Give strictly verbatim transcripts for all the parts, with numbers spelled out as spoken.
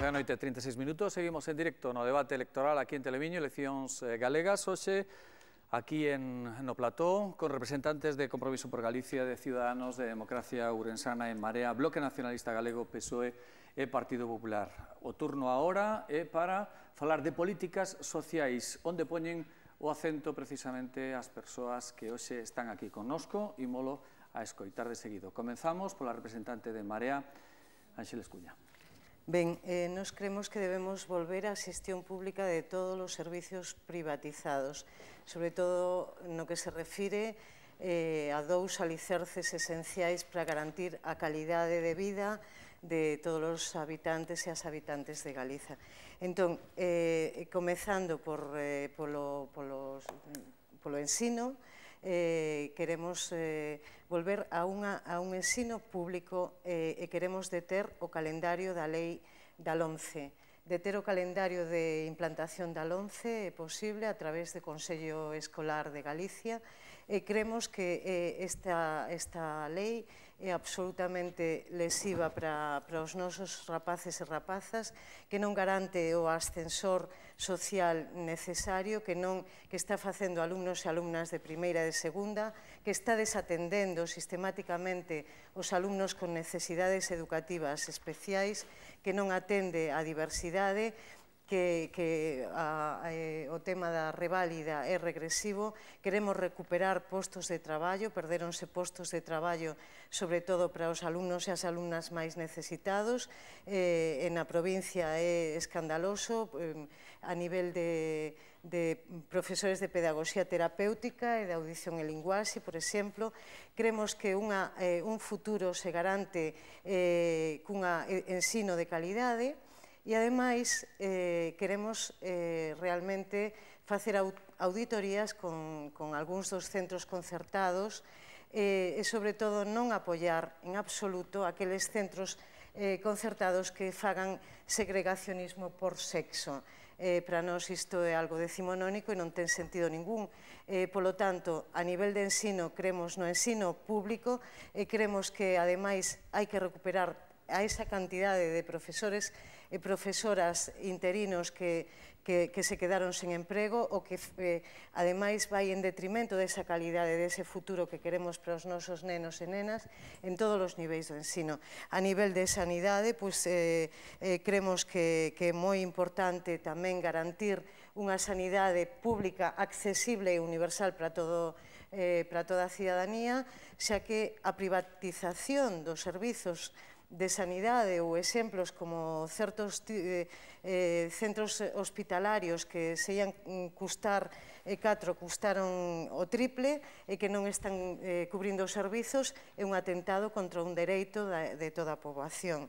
nove da noite e trinta e seis minutos, seguimos en directo no debate electoral aquí en Telemiño, eleccións galegas, hoxe aquí en, no plató, con representantes de Compromiso por Galicia, de Ciudadanos, de Democracia Ourensana, en Marea, Bloque Nacionalista Galego, P S O E e Partido Popular. O turno agora é para falar de políticas sociais, onde poñen o acento precisamente as persoas que hoxe están aquí connosco e molo a escoitar de seguido. Comenzamos pola representante de Marea, Ánxeles Cuña. Ben, eh, nos creemos que debemos volver á xestión pública de todos os servicios privatizados, sobre todo no que se refire eh, a dous alicerces esenciais para garantir a calidade de vida de todos os habitantes e as habitantes de Galiza. Entón, eh, comezando por, eh, polo, polos, polo ensino, eh, queremos eh, volver a, unha, a un ensino público eh, e queremos deter o calendario da lei da LOMCE. Deter o calendario de implantación da LOMCE é posible a través do Consello Escolar de Galicia e creemos que eh, esta, esta lei é absolutamente lesiva para, para os nosos rapaces e rapazas, que non garante o ascensor social necesario, que non que está facendo alumnos e alumnas de primeira e de segunda, que está desatendendo sistemáticamente os alumnos con necesidades educativas especiais, que non atende a diversidade, que, que a, a, o tema da reválida é regresivo. Queremos recuperar postos de traballo, perderonse postos de traballo sobre todo para os alumnos e as alumnas máis necesitados. Eh, en a provincia é escandaloso eh, a nivel de, de profesores de pedagogía terapéutica e de audición e linguaxe, por exemplo. Creemos que unha, eh, un futuro se garante eh, cunha ensino de calidade. E, ademais, eh, queremos eh, realmente facer auditorías con, con algúns dos centros concertados eh, e, sobre todo, non apoiar en absoluto aqueles centros eh, concertados que fagan segregacionismo por sexo. Eh, para nós isto é algo decimonónico e non ten sentido ningún. Eh, polo tanto, a nivel de ensino, creemos no ensino público e creemos que, ademais, hai que recuperar a esa cantidade de profesores e profesoras interinos que, que, que se quedaron sen emprego o que, eh, ademais, vai en detrimento desa calidade, dese futuro que queremos para os nosos nenos e nenas en todos os niveis do ensino. A nivel de sanidade, pois, eh, eh, creemos que, que é moi importante tamén garantir unha sanidade pública accesible e universal para todo eh, para toda a cidadanía, xa que a privatización dos servizos de sanidade ou exemplos como certos eh, eh, centros hospitalarios que se ian custar e catro custaron o triple e que non están eh, cubrindo os servizos é un atentado contra un dereito de, de toda a poboación.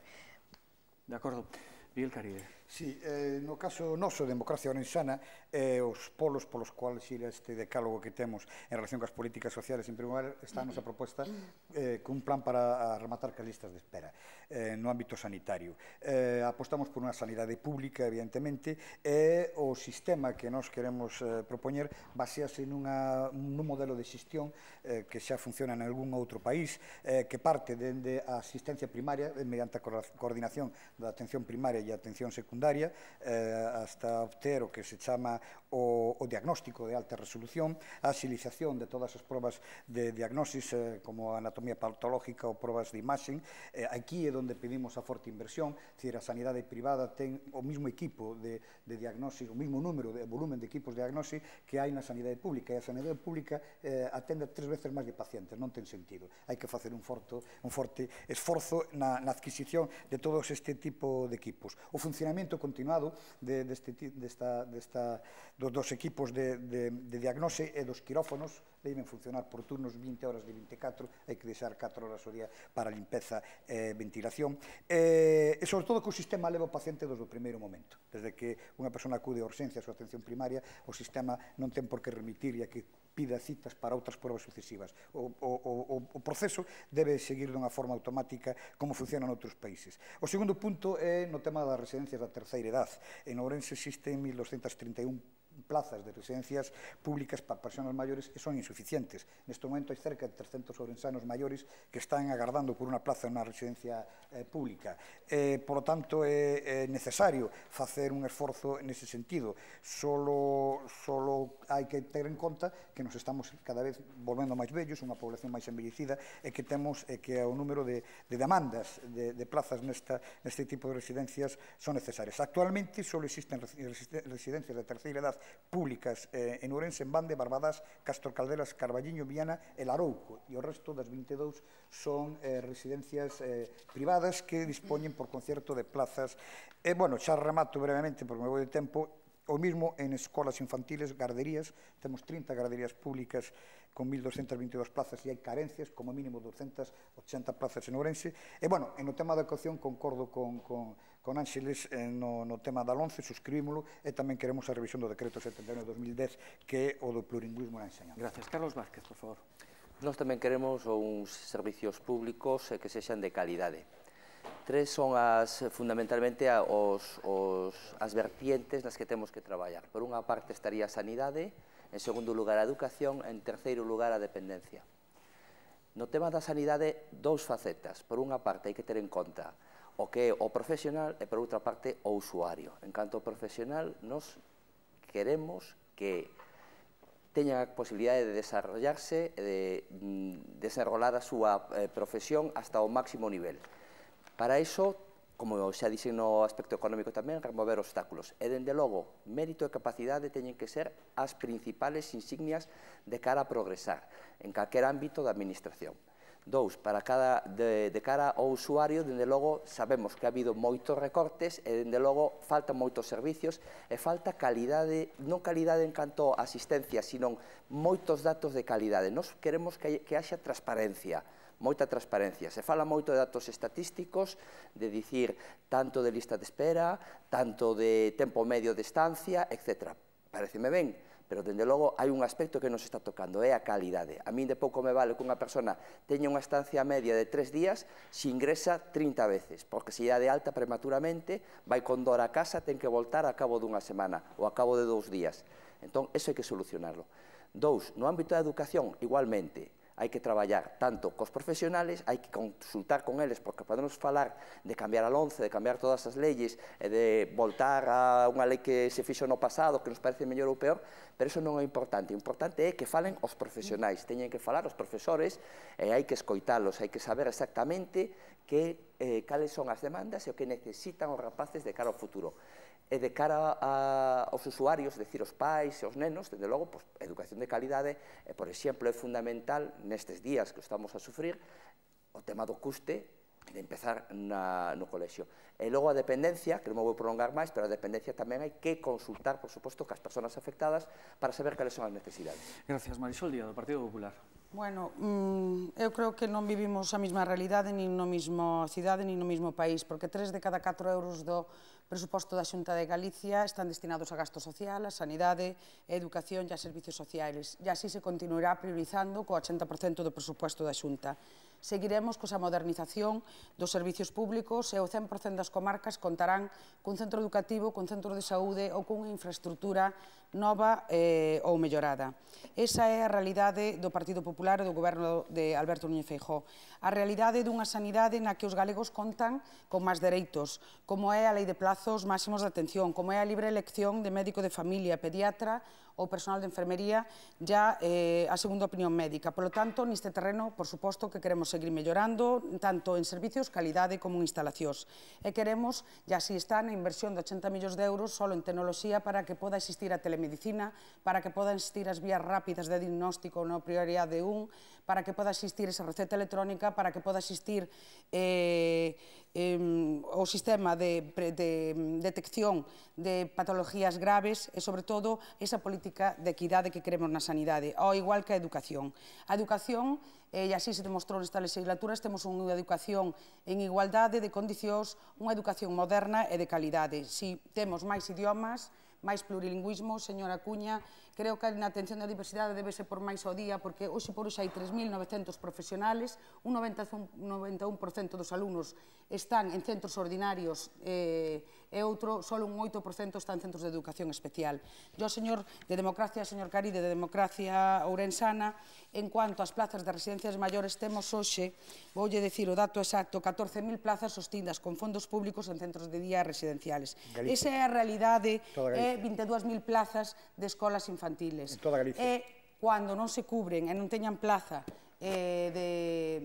De acordo. Miguel Caride. Sí, eh, no caso noso, Democracia Ourensana, eh, os polos polos cuales ir este decálogo que temos en relación coas políticas sociales, en primeiro lugar, está a nosa proposta eh, cun plan para rematar cas listas de espera eh, no ámbito sanitario. Eh, apostamos por unha sanidade pública, evidentemente, e o sistema que nos queremos eh, propoñer basease nunha, nun modelo de xestión eh, que xa funciona en algún outro país, eh, que parte dende a asistencia primaria, eh, mediante a coordinación da atención primaria e a atención secundaria, eh, hasta obter o que se chama o, o diagnóstico de alta resolución, a axilización de todas as probas de diagnosis, eh, como a anatomía patológica ou probas de imaxen. Eh, aquí é onde pedimos a forte inversión, decir, a sanidade privada ten o mismo equipo de, de diagnosis, o mismo número de volumen de equipos de diagnosis que hai na sanidade pública, e a sanidade pública eh, atende tres veces máis de pacientes, non ten sentido. Hai que facer un, forto, un forte esforzo na, na adquisición de todos este tipo de equipos. O funcionamento continuado de, deste, desta, desta, dos, dos equipos de, de, de diagnose e dos quirófonos deben funcionar por turnos vinte horas de vinte e catro, hai que deixar catro horas ao día para limpeza e ventilación, e, e sobre todo que o sistema leva o paciente desde o primeiro momento. Desde que unha persona acude a urxencias ou a atención primaria, o sistema non ten por que remitir e a que pida citas para outras pruebas sucesivas. O, o, o, o proceso debe seguir dunha forma automática como funciona noutros países. O segundo punto é no tema das residencias da terceira edad. En Ourense existen mil doscentas trinta e un plazas de residencias públicas para persoas maiores e son insuficientes. Neste momento hai cerca de trescentos ourensanos maiores que están agardando por unha plaza en unha residencia eh, pública. Eh, por lo tanto, é, é necesario facer un esforzo nese sentido. Solo, solo hai que ter en conta que nos estamos cada vez volvendo máis vellos, unha población máis envellecida, e que temos e que o número de, de demandas de, de plazas nesta, neste tipo de residencias son necesarias. Actualmente só existen residencias de terceira edad públicas eh, en Ourense, en Bande, Barbadas, Castro Caldelas, Carballiño, Viana e Larouco, e o resto das vinte e dous son eh, residencias eh, privadas que dispoñen por concierto de plazas. E, bueno, xa remato brevemente, porque me vou de tempo, o mismo en escolas infantiles, garderías, temos trinta garderías públicas con mil doscientas veintidós plazas e hai carencias, como mínimo doscientas ochenta plazas en Ourense. E, bueno, en o tema da educación concordo con, con, con Ángeles eh, no, no tema da LOMCE, suscribímolo, e tamén queremos a revisión do decreto setenta e nove de dos mil dez, que é o do plurilingüismo na enseñanza. Gracias. Carlos Vázquez, por favor. Nós tamén queremos uns servicios públicos que sexan de calidade. Tres son as, fundamentalmente os, os, as vertientes nas que temos que traballar. Por unha parte estaría a sanidade, en segundo lugar a educación, en terceiro lugar a dependencia. No tema da sanidade, dous facetas. Por unha parte hai que ter en conta o que é o profesional e por outra parte o usuario. En canto ao profesional, nos queremos que teñan a posibilidade de desarrollarse e de mm, desenrolar a súa eh, profesión hasta o máximo nivel. Para iso, como xa dixen no aspecto económico tamén, remover obstáculos. E, dende logo, mérito e capacidade teñen que ser as principales insignias de cara a progresar en calquer ámbito da administración. Dous, para cada, de, de cara ao usuario, dende logo, sabemos que ha habido moitos recortes e, dende logo, faltan moitos servicios e falta calidade, non calidade en canto a asistencia, sino moitos datos de calidade. Nos queremos que, que haxa transparencia, moita transparencia. Se fala moito de datos estatísticos, de dicir tanto de lista de espera, tanto de tempo medio de estancia, etcétera. Pareceme ben, pero, dende logo, hai un aspecto que nos está tocando, é a calidade. A min de pouco me vale que unha persona teña unha estancia media de tres días se ingresa trinta veces, porque se dá de alta prematuramente, vai con dor a casa, ten que voltar a cabo dunha semana ou a cabo de dous días. Entón, eso hai que solucionarlo. Dous, no ámbito da educación, igualmente, hai que traballar tanto cos profesionales, hai que consultar con eles, porque podemos falar de cambiar a LOMCE, de cambiar todas as leyes, e de voltar a unha lei que se fixo no pasado, que nos parece mellor ou peor, pero iso non é importante. O importante é que falen os profesionais, teñen que falar os profesores, e hai que escoitalos, hai que saber exactamente que, eh, cales son as demandas e o que necesitan os rapaces de cara ao futuro. E de cara a, aos usuarios, é dicir, os pais e os nenos, desde logo, pues, educación de calidade, e, por exemplo, é fundamental nestes días que estamos a sufrir o tema do custe de empezar na, no colexio. E logo a dependencia, que non me vou prolongar máis, pero a dependencia tamén hai que consultar, por suposto, cas persoas afectadas para saber cales son as necesidades. Gracias. Marisol Díaz, do Partido Popular. Bueno, mm, eu creo que non vivimos a mesma realidade, nin no mesmo cidade, nin no mesmo país, porque tres de cada catro euros do presuposto da Xunta de Galicia están destinados a gasto social, a sanidade, a educación e a servicios sociais. E así se continuará priorizando co ochenta por cento do presuposto da Xunta. Seguiremos coa modernización dos servicios públicos e o cen por cento das comarcas contarán cun centro educativo, cun centro de saúde ou cunha infraestructura nova eh, ou mellorada. Esa é a realidade do Partido Popular e do goberno de Alberto Núñez Feijóo. A realidade dunha sanidade na que os galegos contan con máis dereitos, como é a lei de plazos máximos de atención, como é a libre elección de médico de familia, pediatra ou personal de enfermería, ya eh, a segunda opinión médica. Por lo tanto, neste terreno, por suposto, que queremos seguir mellorando, tanto en servicios, calidade, como en instalacións. E queremos, e así está, na inversión de ochenta millóns de euros solo en tecnoloxía para que poda existir a telemedicina, para que poda existir as vías rápidas de diagnóstico na prioridade un, para que poda existir esa receta electrónica, para que poda existir eh, eh, o sistema de, de detección de patologías graves e, sobre todo, esa política de equidade que queremos na sanidade, ao igual que a educación. A educación, e así se demostrou nesta legislatura, temos unha educación en igualdade de condicións, unha educación moderna e de calidade. Si temos máis idiomas, máis plurilingüismo, señora Cuña, Creo que na atención da diversidade debe ser por máis ao día, porque hoxe por hoxe hai tres mil novecentos profesionales, un noventa e un por cento dos alumnos están en centros ordinarios e outro, só un oito por cento está en centros de educación especial. Yo, señor de Democracia, señor Caride, de Democracia Ourensana, en cuanto ás plazas de residencias maiores, temos hoxe, voulle dicir o dato exacto, catorce mil plazas sostindas con fondos públicos en centros de día residenciales. Esa é a realidade, é vinte e dúas mil plazas de escolas infantiles. En toda Galicia. E cando non se cubren e non teñan plaza eh, de,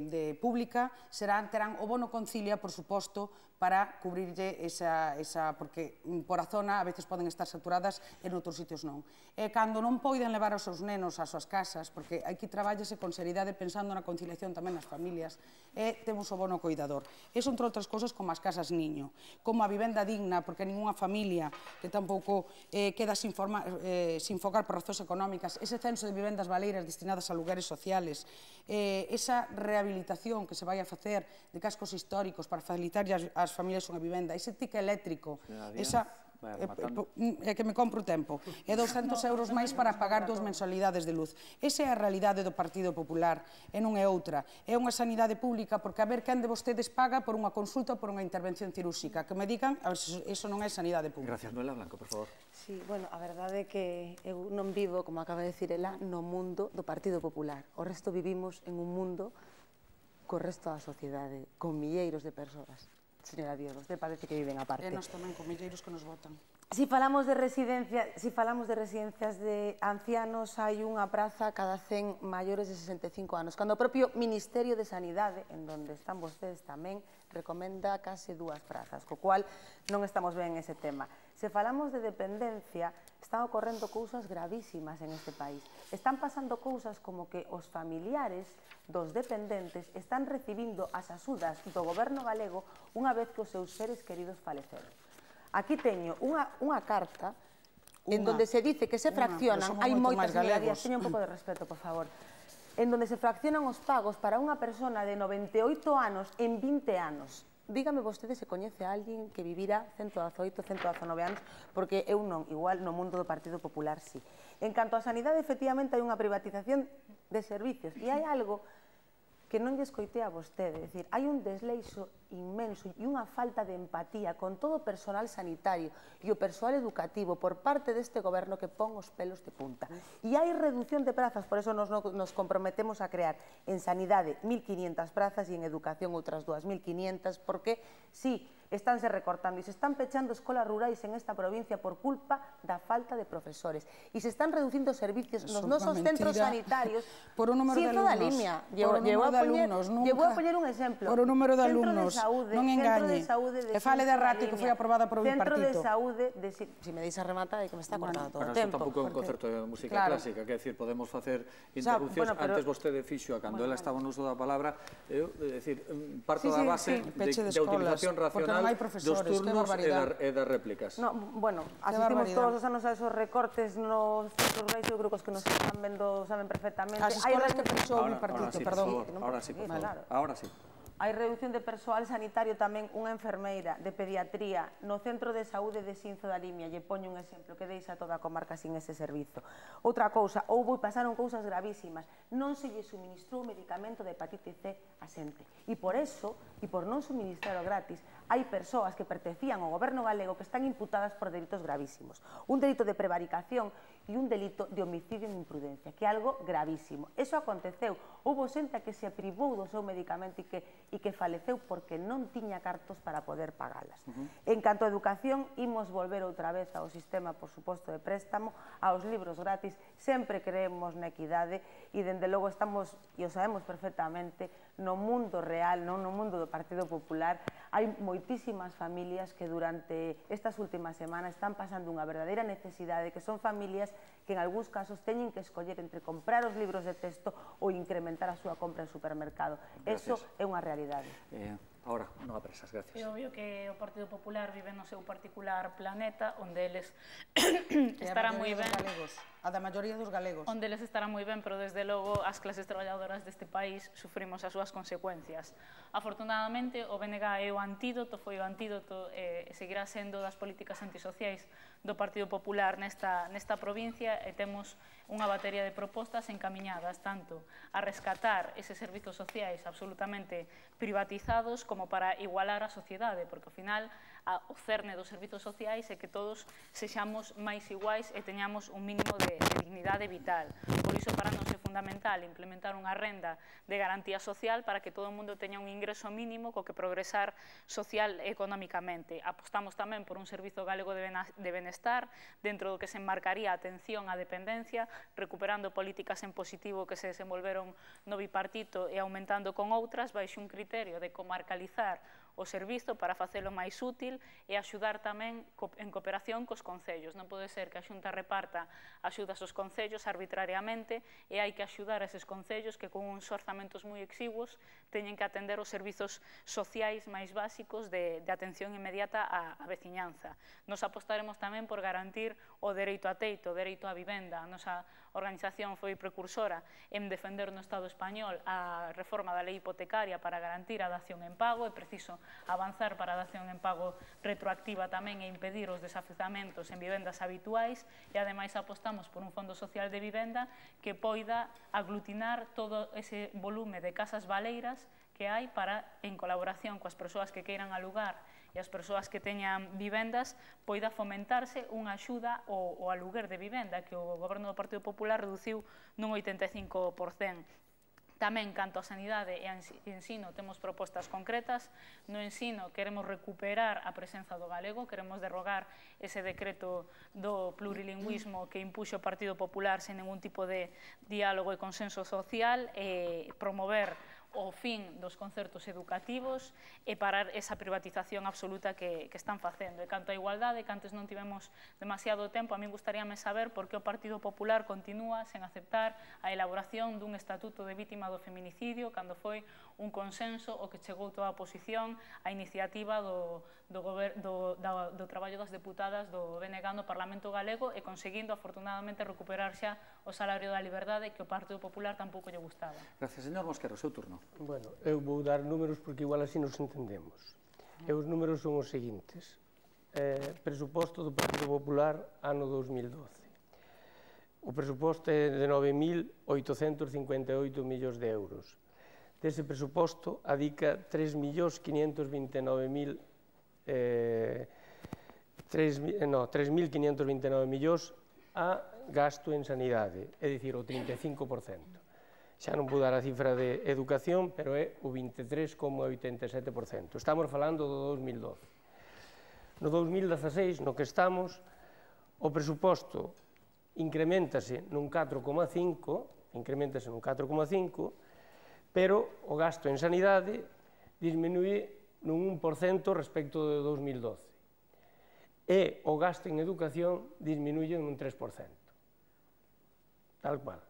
de pública, serán, terán o bono concilia, por suposto, para cubrirlle esa, esa, porque por a zona a veces poden estar saturadas e noutros sitios non. E cando non poiden levar os seus nenos ás súas casas, porque aquí traballase con seriedade pensando na conciliación tamén nas familias, e temos o bono coidador. Eso, entre outras cousas, como as casas niño, como a vivenda digna, porque ninguna familia que tampouco eh, queda sin, forma, eh, sin fogar por razóns económicas, ese censo de vivendas baleiras destinadas a lugares sociales, eh, esa rehabilitación que se vai a facer de cascos históricos para facilitar as, as familias unha vivenda, ese tique eléctrico, esa... É que me compro o tempo. É douscentos euros máis para pagar dúas mensualidades de luz. Esa é a realidade do Partido Popular, e non é outra. É unha sanidade pública, porque a ver quen de vostedes paga por unha consulta ou por unha intervención cirúrxica. Que me digan, a ver se iso non é sanidade pública. Gracias, Noela Blanco, por favor. Sí, bueno, a verdade é que eu non vivo, como acaba de decir ela, no mundo do Partido Popular. O resto vivimos en un mundo co resto da sociedade, con milleiros de persoas. Señora Diego, usted parece que viven aparte. E nós tamén, con milleiros que nos votan. Si falamos de residencia, si falamos de residencias de ancianos, hai unha praza cada cen maiores de sesenta e cinco anos, cando o propio Ministerio de Sanidade, en donde están vostedes tamén, recomenda case dúas prazas, co cual non estamos ben en ese tema. Se falamos de dependencia, están ocorrendo cousas gravísimas en este país. Están pasando cousas como que os familiares dos dependentes están recibindo as axudas do goberno galego unha vez que os seus seres queridos faleceron. Aquí teño unha, unha carta en Unha, donde se dice que se unha, fraccionan, pero somos hai moito moitas, máis señora galegos. Díaz, teño un pouco de respeto, por favor, en donde se fraccionan os pagos para unha persona de noventa e oito anos en vinte anos. Dígame vostede se coñece a alguén que vivira ciento dezaoito, ciento dezanove anos, porque eu non, igual no mundo do Partido Popular sí. En canto á sanidade, efectivamente, hai unha privatización de servicios, e hai algo que non lle escoitei a vostede, é dicir, hai un desleixo inmenso e unha falta de empatía con todo o persoal sanitario e o persoal educativo por parte deste goberno que pon os pelos de punta. E hai reducción de prazas, por eso nos, nos comprometemos a crear en sanidade mil quinientas prazas e en educación outras dúas mil quinientas, porque, sí, estánse recortando e se están pechando escolas rurais en esta provincia por culpa da falta de profesores e se están reducindo servicios nos nosos centros sanitarios por un número de alumnos, por un número de alumnos, nunca, vou a poñer un exemplo, por un número de alumnos, non engañe, e fale de ratio que foi aprobada por un centro partido. de saúde, de, si, si me deis a rematar é que me está cortando todo o Bueno, tempo. isto tampouco é un concerto de música claro. clásica, quer decir, podemos facer interrupcións, bueno, pero- antes vostede fixo, cando Bueno, ela estaba no uso da palabra, eu, é dicir, parto Sí, da sí, base sí. de, Peche de de escolas, utilización porque racional non hai dos profesores, que turnos e, barbaridade. da, e das réplicas. No, bueno, asistimos barbaridade. todos os anos a esos recortes nos centros rurais, eu creo que os que nos están vendo saben perfectamente. As Hai escolas que reducción- fixou o Ahora, partido, ahora sí, perdón. por favor, ahora sí, por favor. Claro. Ahora sí. Hai reducción de persoal sanitario tamén, unha enfermeira de pediatría no Centro de Saúde de Xinzo da Limia, lle poño un exemplo que deixa toda a comarca sin ese servizo. Outra cousa, houbo e pasaron cousas gravísimas, non se lle suministrou medicamento de hepatite C a xente. E por eso, e por non suministralo gratis, hai persoas que pertencían ao goberno galego que están imputadas por delitos gravísimos. Un delito de prevaricación e un delito de homicidio en imprudencia, que é algo gravísimo. Eso aconteceu. Houbo xente que se privou do seu medicamento e que, e que faleceu porque non tiña cartos para poder pagalas. Uh-huh. En canto a educación, imos volver outra vez ao sistema, por suposto, de préstamo, aos libros gratis. Sempre creemos na equidade e, dende logo, estamos, e o sabemos perfectamente, no mundo real, non no mundo do Partido Popular, hai moitísimas familias que durante estas últimas semanas están pasando unha verdadeira necesidade, que son familias que en algúns casos teñen que escoller entre comprar os libros de texto ou incrementar a súa compra en supermercado. Eso é unha realidade. Eh, ahora, non apresas, gracias. É obvio que o Partido Popular vive no seu particular planeta, onde eles E a estarán moi maioría ben. dos galegos, a da maioría dos galegos. Onde eles estarán moi ben, pero desde logo as clases traballadoras deste país sufrimos as súas consecuencias. Afortunadamente, o B N G é o antídoto, foi o antídoto e seguirá sendo das políticas antisociais do Partido Popular nesta, nesta provincia e temos unha batería de propostas encamiñadas tanto a rescatar eses servizos sociais absolutamente privatizados como para igualar a sociedade, porque ao final o cerne dos servizos sociais é que todos sexamos máis iguais e teñamos un mínimo de, de dignidade vital. Por iso para nós é fundamental implementar unha renda de garantía social para que todo o mundo teña un ingreso mínimo co que progresar social e económicamente. Apostamos tamén por un servizo galego de benestar dentro do que se enmarcaría a atención á dependencia, recuperando políticas en positivo que se desenvolveron no bipartito e aumentando con outras baixo un criterio de comarcalizar o servizo para facelo máis útil e axudar tamén en cooperación cos concellos. Non pode ser que a Xunta reparta axudas aos concellos arbitrariamente e hai que axudar a eses concellos que con uns orzamentos moi exiguos teñen que atender os servizos sociais máis básicos de, de atención inmediata á, á veciñanza. Nos apostaremos tamén por garantir o dereito a teito, o dereito á vivenda. A nosa organización foi precursora en defender no Estado español a reforma da lei hipotecaria para garantir a dación en pago. É preciso avanzar para a dación en pago retroactiva tamén e impedir os desafezamentos en vivendas habituais e ademais apostamos por un fondo social de vivenda que poida aglutinar todo ese volume de casas baleiras que hai para, en colaboración coas persoas que queiran alugar e as persoas que teñan vivendas, poida fomentarse unha axuda ao, ao aluguer de vivenda que o Goberno do Partido Popular reduciu nun oitenta e cinco por cento. Tamén, canto a sanidade e a ensino, temos propostas concretas. No ensino queremos recuperar a presenza do galego, queremos derrogar ese decreto do plurilingüismo que impuxo o Partido Popular sen ningún tipo de diálogo e consenso social, e promover o fin dos concertos educativos e parar esa privatización absoluta que, que están facendo. E canto a igualdade, que antes non tivemos demasiado tempo, a mí gustaríame saber por que o Partido Popular continúa sen aceptar a elaboración dun estatuto de vítima do feminicidio, cando foi un consenso o que chegou toda a oposición á iniciativa do, do, do, do, do traballo das deputadas do B N G no Parlamento Galego e conseguindo, afortunadamente, recuperar xa o salario da liberdade que o Partido Popular tampouco lle gustaba. Gracias, señor Mosquero. Seu turno. Bueno, eu vou dar números porque igual así nos entendemos. E os números son os seguintes. Eh, presuposto do Partido Popular ano dos mil doce. O presuposto é de nove mil oitocentos cincuenta e oito millóns de euros. Dese presuposto adica tres millóns quinhentos vinte e nove mil eh, tres mil quinhentos vinte e nove millóns a gasto en sanidade, é dicir, o trinta e cinco por cento. Xa non vou dar a cifra de educación, pero é o vinte e tres coma oitenta e sete por cento. Estamos falando do dos mil doce. No dos mil dezaseis, no que estamos, o presuposto incrementase nun catro coma cinco, incrementase nun catro coma cinco, pero o gasto en sanidade disminuye nun un por cento respecto do dos mil doce. E o gasto en educación disminuye nun tres por cento. Tal cual.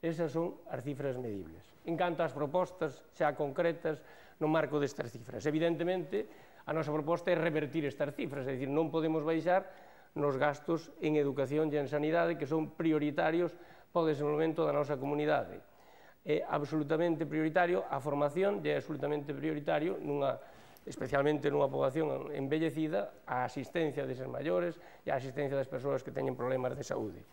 Esas son as cifras medibles. En canto ás propostas xa concretas no marco destas cifras. Evidentemente, a nosa proposta é revertir estas cifras, é dicir, non podemos baixar nos gastos en educación e en sanidade que son prioritarios para o desenvolvemento da nosa comunidade. É absolutamente prioritario a formación e é absolutamente prioritario, nunha, especialmente nunha poboación envellecida, a asistencia deses maiores e a asistencia das persoas que teñen problemas de saúde.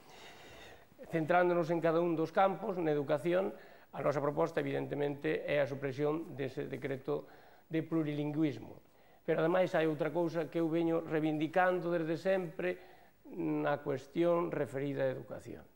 Centrándonos en cada un dos campos, na educación, a nosa proposta, evidentemente, é a supresión dese decreto de plurilingüismo. Pero, ademais, hai outra cousa que eu veño reivindicando desde sempre na cuestión referida á educación.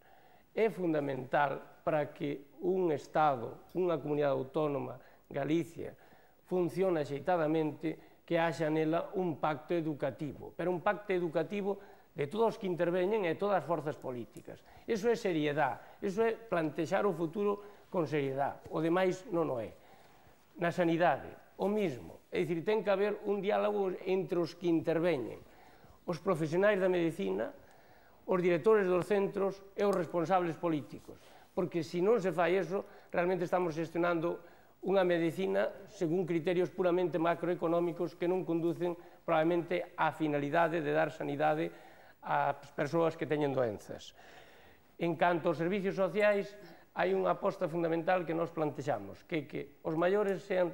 É fundamental para que un Estado, unha comunidade autónoma, Galicia, funcione axeitadamente, que haxa nela un pacto educativo, pero un pacto educativo de todos os que interveñen e todas as forzas políticas. Iso é seriedade, iso é plantexar o futuro con seriedade, o demais non o é. Na sanidade, o mismo, é dicir, ten que haber un diálogo entre os que interveñen, os profesionais da medicina, os directores dos centros e os responsables políticos, porque se non se fai eso, realmente estamos gestionando unha medicina según criterios puramente macroeconómicos que non conducen probablemente á finalidade de dar sanidade ás persoas que teñen doenzas. En canto aos servicios sociais, hai unha aposta fundamental que nos plantexamos, que que os maiores sean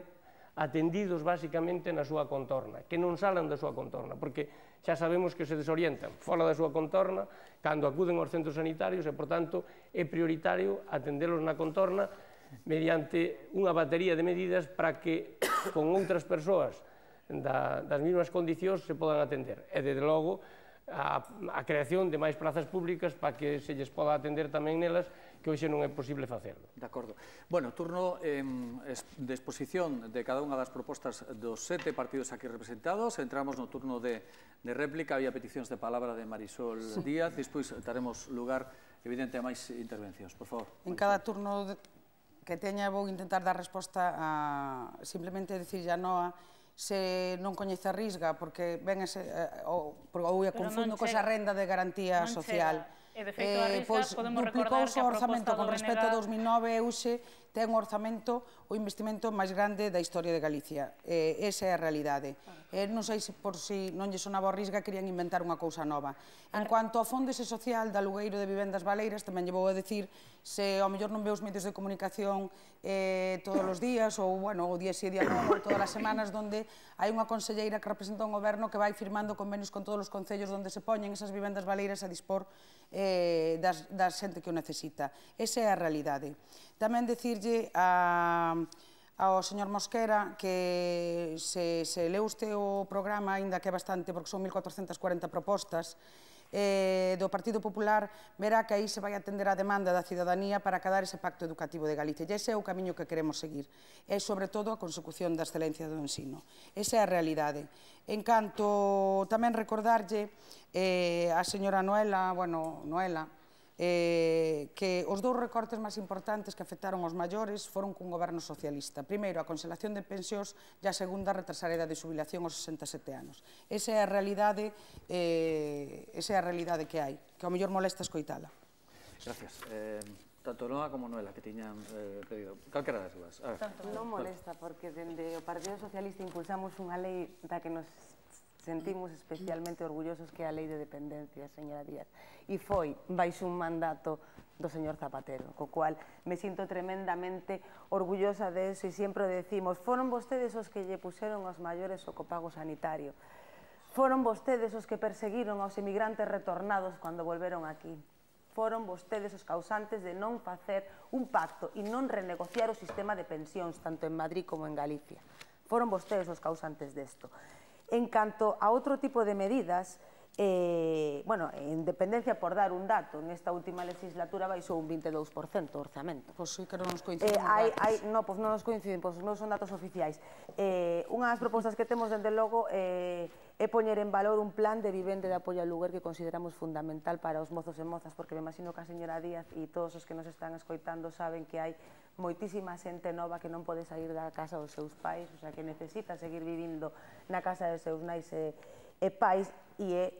atendidos basicamente na súa contorna, que non salan da súa contorna, porque xa sabemos que se desorientan fora da súa contorna cando acuden aos centros sanitarios e, por tanto, é prioritario atendelos na contorna mediante unha batería de medidas para que con outras persoas das mesmas condicións se podan atender. E, desde logo, a creación de máis plazas públicas para que se lles poda atender tamén nelas, que hoxe non é posible facerlo. De acordo. Bueno, turno de exposición de cada unha das propostas dos sete partidos aquí representados. Entramos no turno de réplica. Había peticións de palabra de Marisol Díaz. Despois daremos lugar, evidente, a máis intervencións. Por favor. En cada turno que teña vou intentar dar resposta a simplemente decir a Noa se non coñece a Risga, porque ben ese, ou a confundo coa renda de garantía social. E, de feito, a Risga podemos recordar que a proposta do B N G... Duplicouse o orzamento con respecto a dos mil nove e hoxe ten o orzamento o investimento máis grande da historia de Galicia. Esa é a realidade. Non sei se por si non lle sonaba a Risga querían inventar unha cousa nova. En cuanto ao fondo ese social da alugueiro de vivendas baleiras, tamén lle vou a decir se ao mellor non ve os medios de comunicación todos os días ou, bueno, o día si día non, ou todas as semanas, onde hai unha conselleira que representa un goberno que vai firmando convenios con todos os concellos onde se poñen esas vivendas baleiras a dispor da xente que o necesita. Esa é a realidade. Tamén decirlle ao señor Mosquera que se leu usted o programa, aínda que é bastante, porque son mil cuatrocentas cuarenta propostas, do Partido Popular, verá que aí se vai atender a demanda da cidadanía para acadar ese pacto educativo de Galicia. E ese é o camiño que queremos seguir. É, sobre todo, a consecución da excelencia do ensino. Esa é a realidade. En canto, tamén recordarlle a señora Noela, bueno, Noela, que os dous recortes máis importantes que afectaron aos maiores foron cun goberno socialista. Primeiro, a congelación de pensións e a segunda, retrasar a edade de xubilación aos sesenta e sete anos. Esa é a realidade esa é a realidade que hai, que ao mellor molesta escoitala. Gracias. Tanto Noa como Noela, que tiñan pedido. Calquera das dúas. Non molesta, porque dende o Partido Socialista impulsamos unha lei da que nos sentimos especialmente orgullosos, que é a Lei de Dependencia, señora Díaz, e foi baixo un mandato do señor Zapatero, co cual me sinto tremendamente orgullosa de eso, e sempre decimos, foron vostedes os que lle puseron aos maiores o copago sanitario, foron vostedes os que perseguiron aos emigrantes retornados cando volveron aquí, foron vostedes os causantes de non facer un pacto e non renegociar o sistema de pensións, tanto en Madrid como en Galicia. Foron vostedes os causantes desto. En canto a outro tipo de medidas, bueno, en dependencia, por dar un dato, nesta última legislatura baixou un vinte e dous por cento o orzamento. Pois sí que non nos coinciden os datos. Non, pois non nos coinciden, pois non son datos oficiais. Unha das propostas que temos, dende logo, é poñer en valor un plan de vivenda de apoio ao lugar que consideramos fundamental para os mozos e mozas, porque me imagino que a señora Díaz e todos os que nos están escoitando saben que hai moitísima xente nova que non pode sair da casa dos seus pais, o sea, que necesita seguir vivindo na casa dos seus nais e pais, e é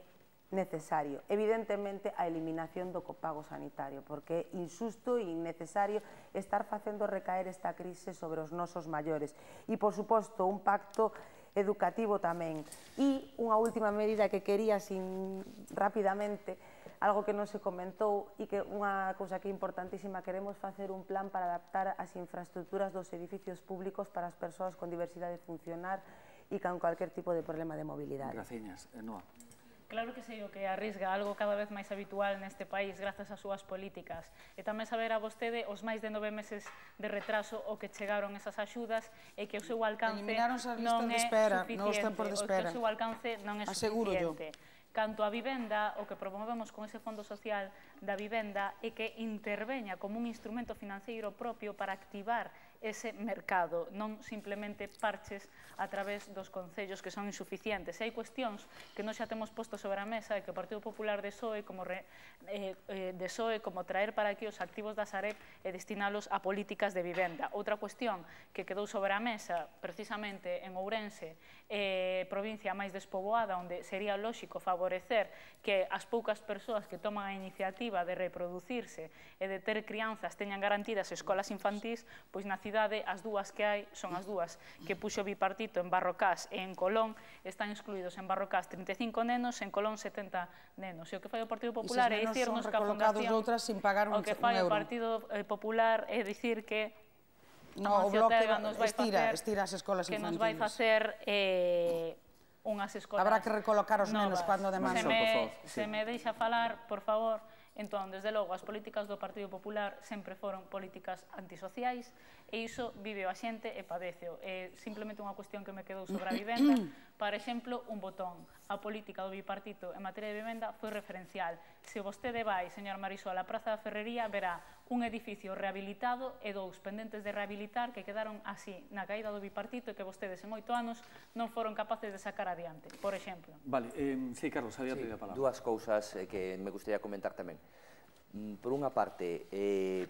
necesario, evidentemente, a eliminación do copago sanitario, porque é injusto e innecesario estar facendo recaer esta crise sobre os nosos maiores. E, por suposto, un pacto educativo tamén. E unha última medida que quería, sin rapidamente, algo que non se comentou e que unha cousa que é importantísima, queremos facer un plan para adaptar as infraestructuras dos edificios públicos para as persoas con diversidade funcional e con cualquier tipo de problema de mobilidade. Graciñas. Noa. Claro que sei o que arrisga algo cada vez máis habitual neste país grazas ás súas políticas. E tamén saber a vostede os máis de nove meses de retraso o que chegaron esas axudas e que o seu alcance non é suficiente. O que o seu alcance non é suficiente. Canto a vivenda, o que promovemos con ese Fondo Social da Vivenda é que interveña como un instrumento financeiro propio para activar ese mercado, non simplemente parches a través dos concellos que son insuficientes. E hai cuestións que non xa temos posto sobre a mesa e que o Partido Popular desoe como, re, eh, eh, desoe como traer para aquí os activos da Sareb e destinalos a políticas de vivenda. Outra cuestión que quedou sobre a mesa precisamente en Ourense, eh, provincia máis despoboada, onde sería lóxico favorecer que as poucas persoas que toman a iniciativa de reproducirse e de ter crianzas teñan garantidas escolas infantís, pois na cidade as dúas que hai son as dúas que puxo bipartito en Barrocás e en Colón, están excluídos en Barrocás trinta e cinco nenos, en Colón setenta nenos. E o que fai o Partido Popular é dicirnos que a Fundación, o que fai o Partido Popular é dicir que no, o bloque estira, estira as escolas que infantiles. nos vai facer eh, unhas escolas Habrá que recolocar os nenos novas. cando demanden. Se me, se me deixa falar, por favor, entón, desde logo, as políticas do Partido Popular sempre foron políticas antisociais e iso vive a xente e padeceo. É simplemente unha cuestión que me quedou sobre a vivenda. Por exemplo, un botón. A política do bipartito en materia de vivenda foi referencial. Se vostede vai, señor Marisol, á Praza da Ferrería, verá un edificio rehabilitado e dous pendentes de rehabilitar que quedaron así na caída do bipartito e que vostedes en oito anos non foron capaces de sacar adiante, por exemplo. Vale, eh, sí, Carlos, había sí, pedido a palabra. Dúas cousas eh, que me gustaría comentar tamén. Mm, por unha parte, eh,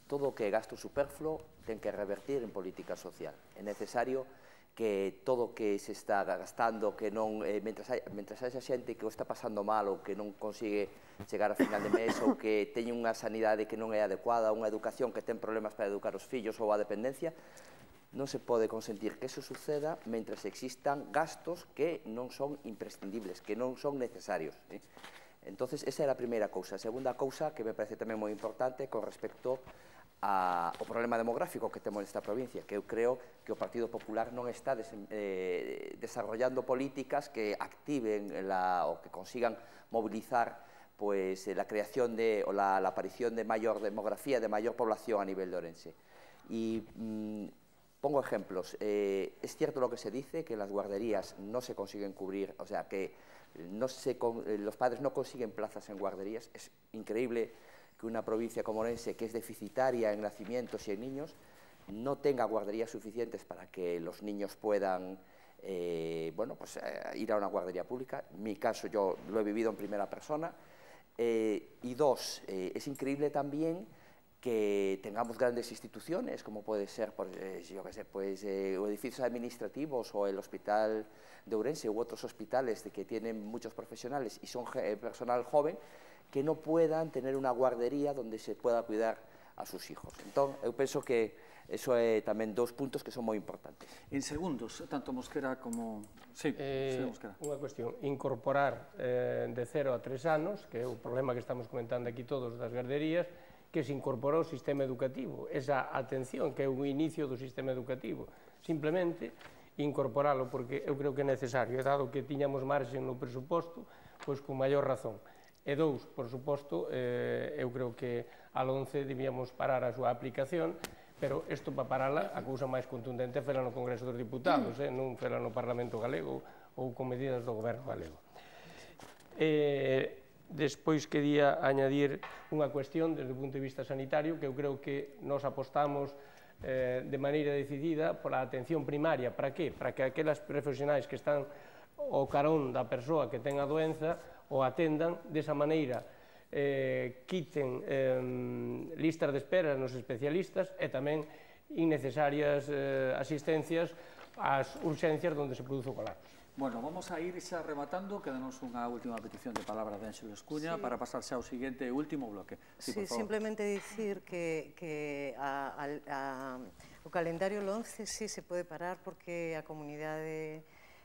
todo o que é gasto superfluo ten que revertir en política social. É necesario que todo o que se está gastando, que non, eh, mentras, hai, mentras hai xente que o está pasando mal ou que non consigue chegar a final de mes ou que teñe unha sanidade que non é adecuada, unha educación que ten problemas para educar os fillos ou a dependencia, non se pode consentir que eso suceda mentras existan gastos que non son imprescindibles, que non son necesarios. ¿eh? Entonces, esa é a primeira cousa. A segunda cousa, que me parece tamén moi importante, con respecto ao problema demográfico que temos nesta provincia, que eu creo que o Partido Popular non está des, eh, desarrollando políticas que activen la, o que consigan mobilizar pues, la creación de, o la, la aparición de mayor demografía, de mayor población a nivel de Ourense. Y mmm, pongo ejemplos. Eh, es cierto lo que se dice, que las guarderías no se consiguen cubrir, o sea, que no se, los padres no consiguen plazas en guarderías. Es increíble que una provincia como Ourense, que es deficitaria en nacimientos y en niños, no tenga guarderías suficientes para que los niños puedan eh, bueno, pues, eh, ir a una guardería pública. En mi caso, yo lo he vivido en primera persona. Eh, y dos, eh, es increíble también que tengamos grandes instituciones, como puede ser, por, eh, yo qué sé, pues, eh, edificios administrativos o el Hospital de Ourense u otros hospitales de que tienen muchos profesionales y son eh, personal joven, que no puedan tener una guardería donde se pueda cuidar a sus hijos. Entón, eu penso que eso é tamén dous puntos que son moi importantes. En segundos, tanto Mosquera como... Sí, eh, sí, Mosquera. Unha cuestión, incorporar eh, de cero a tres anos, que é o problema que estamos comentando aquí todos das garderías, que se incorporou ao sistema educativo, esa atención que é o inicio do sistema educativo. Simplemente incorporalo, porque eu creo que é necesario, e dado que tiñamos marxen no presuposto, pois con maior razón. E dous, por suposto, eh, eu creo que a once debíamos parar a súa aplicación, pero isto para parala, a cousa máis contundente é fela no Congreso dos Diputados, eh, non fela no Parlamento Galego ou con medidas do Goberno galego. Eh, despois quería añadir unha cuestión desde o punto de vista sanitario, que eu creo que nos apostamos eh, de maneira decidida pola atención primaria. Para que? Para que aquelas profesionais que están ao carón da persoa que ten a doenza o atendan desa maneira, eh, quiten eh, listas de espera nos especialistas e tamén innecesarias eh, asistencias ás urxencias onde se produce o colapso. Bueno, vamos a ir xa rematando, quedanos unha última petición de palabra de Ánxelo Escuña sí. para pasar xa ao seguinte último bloque. Sí, sí, simplemente dicir que, que a, a, a, o calendario once sí se pode parar porque a comunidade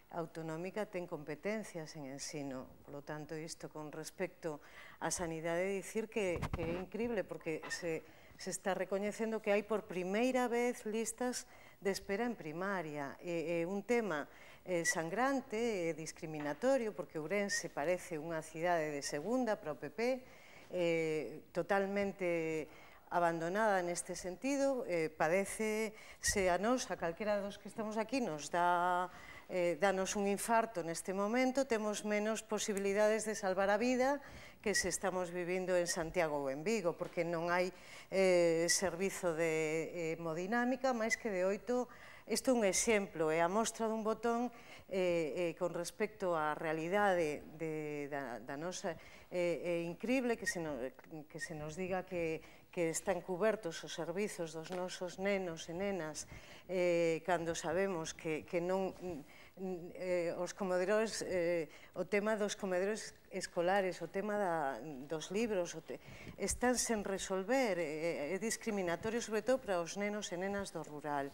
autonómica ten competencias en ensino. Por lo tanto, isto con respecto á sanidade, dicir que, que é increíble porque se, se está recoñecendo que hai por primeira vez listas de espera en primaria. É, é un tema eh, sangrante e discriminatorio porque Ourense parece unha cidade de segunda para o P P, eh, totalmente abandonada neste sentido, eh, padece se a nos, a calquera dos que estamos aquí, nos dá Eh, danos un infarto neste momento, temos menos posibilidades de salvar a vida que se estamos vivindo en Santiago ou en Vigo, porque non hai eh, servizo de hemodinámica máis que de oito. Isto é un exemplo, é a mostra dun botón eh, eh, con respecto á realidade de, da, da nosa... É eh, increíble que se, no, que se nos diga que, que están cubertos os servizos dos nosos nenos e nenas eh, cando sabemos que, que non... Eh, os comedores, eh, o tema dos comedores escolares, o tema da, dos libros, o te, están sen resolver, eh, é discriminatorio sobre todo para os nenos e nenas do rural.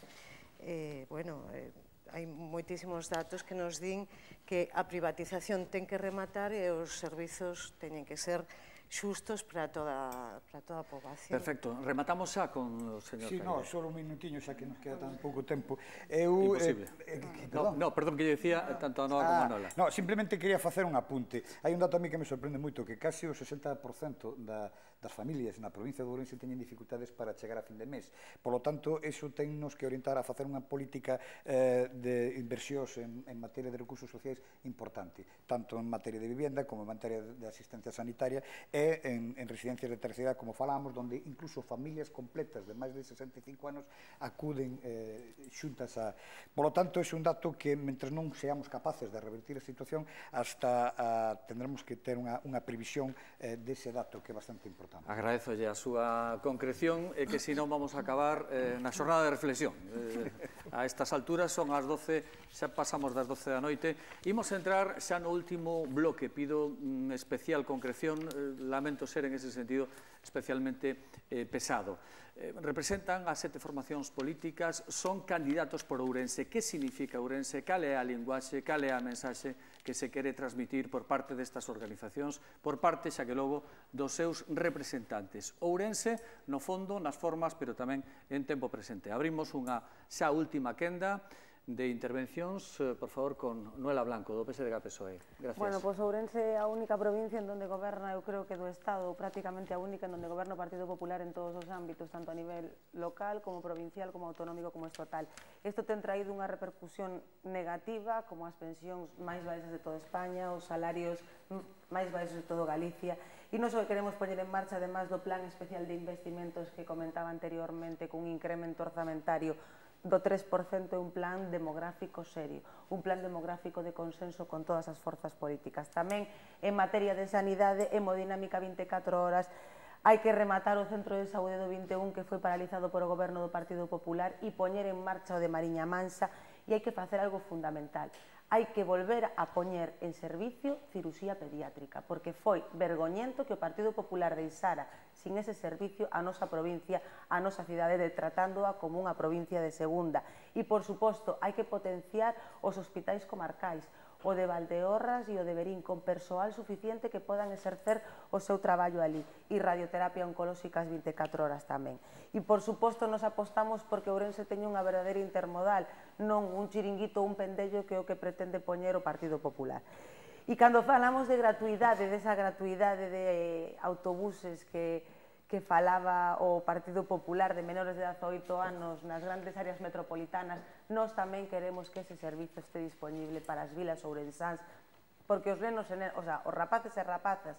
Eh, bueno, eh, hai moitísimos datos que nos din que a privatización ten que rematar e os servizos teñen que ser xustos para toda, para toda a poboación. Perfecto. Rematamos xa con o señor Sí, Caído. no, só un minutiño, xa que nos queda tan pouco tempo. Eu, Imposible. Eh, eh, no, no, perdón, que lle decía tanto a Noa como a Nola. No, simplemente quería facer un apunte. Hai un dato a mí que me sorprende moito, que casi o sesenta por cento da, das familias na provincia de Ourense teñen dificultades para chegar a fin de mes. Por lo tanto, eso tennos que orientar a facer unha política eh, de inversións en, en materia de recursos sociais importante, tanto en materia de vivienda como en materia de asistencia sanitaria e en, en residencias de terceira edad, como falamos, donde incluso familias completas de máis de sesenta e cinco anos acuden eh, xuntas a... Por lo tanto, é un dato que, mentre non seamos capaces de revertir a situación, hasta a, tendremos que ter unha, unha previsión eh, dese dato que é bastante importante. Agradezolle a súa concreción e que senón vamos a acabar eh, na xornada de reflexión. Eh, a estas alturas son as doce, xa pasamos das doce da noite. Imos entrar xa no último bloque. Pido mm, especial concreción, eh, lamento ser en ese sentido especialmente eh, pesado. Eh, representan as sete formacións políticas, son candidatos por Ourense. Que significa Ourense? Cal é a linguaxe? Cal é a mensaxe que se quere transmitir por parte destas organizacións, por parte, xa que logo, dos seus representantes? Ourense, no fondo, nas formas, pero tamén en tempo presente. Abrimos unha xa última quenda de intervencións, eh, por favor, con Noela Blanco, do P S D G P S O E. Gracias. Bueno, pois Ourense é a única provincia en donde goberna, eu creo que do Estado, prácticamente a única en donde goberna o Partido Popular en todos os ámbitos, tanto a nivel local, como provincial, como autonómico, como estatal. Isto ten traído unha repercusión negativa, como as pensións máis baixas de toda España, os salarios máis baixos de todo Galicia, e non só queremos poñer en marcha, además do Plan Especial de Investimentos que comentaba anteriormente, cun incremento orzamentario do tres por cento, é un plan demográfico serio, un plan demográfico de consenso con todas as forzas políticas. Tamén, en materia de sanidade, hemodinámica vinte e catro horas, hai que rematar o Centro de Saúde do vinte e un que foi paralizado por o goberno do Partido Popular e poñer en marcha o de Mariña Mansa, e hai que facer algo fundamental. Hai que volver a poñer en servicio cirurxía pediátrica, porque foi vergoñento que o Partido Popular deixara sin ese servicio a nosa provincia, a nosa cidade, de tratándoa como unha provincia de segunda. E, por suposto, hai que potenciar os hospitais comarcais, o de Valdeorras e o de Verín, con persoal suficiente que podan exercer o seu traballo ali, e radioterapia oncolóxica as vinte e catro horas tamén. E, por suposto, nos apostamos porque Ourense teña unha verdadeira intermodal, non un chiringuito ou un pendello que é o que pretende poñer o Partido Popular. E cando falamos de gratuidade, desa gratuidade de autobuses que que falaba o Partido Popular de menores de dezaoito anos nas grandes áreas metropolitanas, nós tamén queremos que ese servizo este disponible para as vilas ourensáns, porque os nenos, o sea, os rapaces e rapazas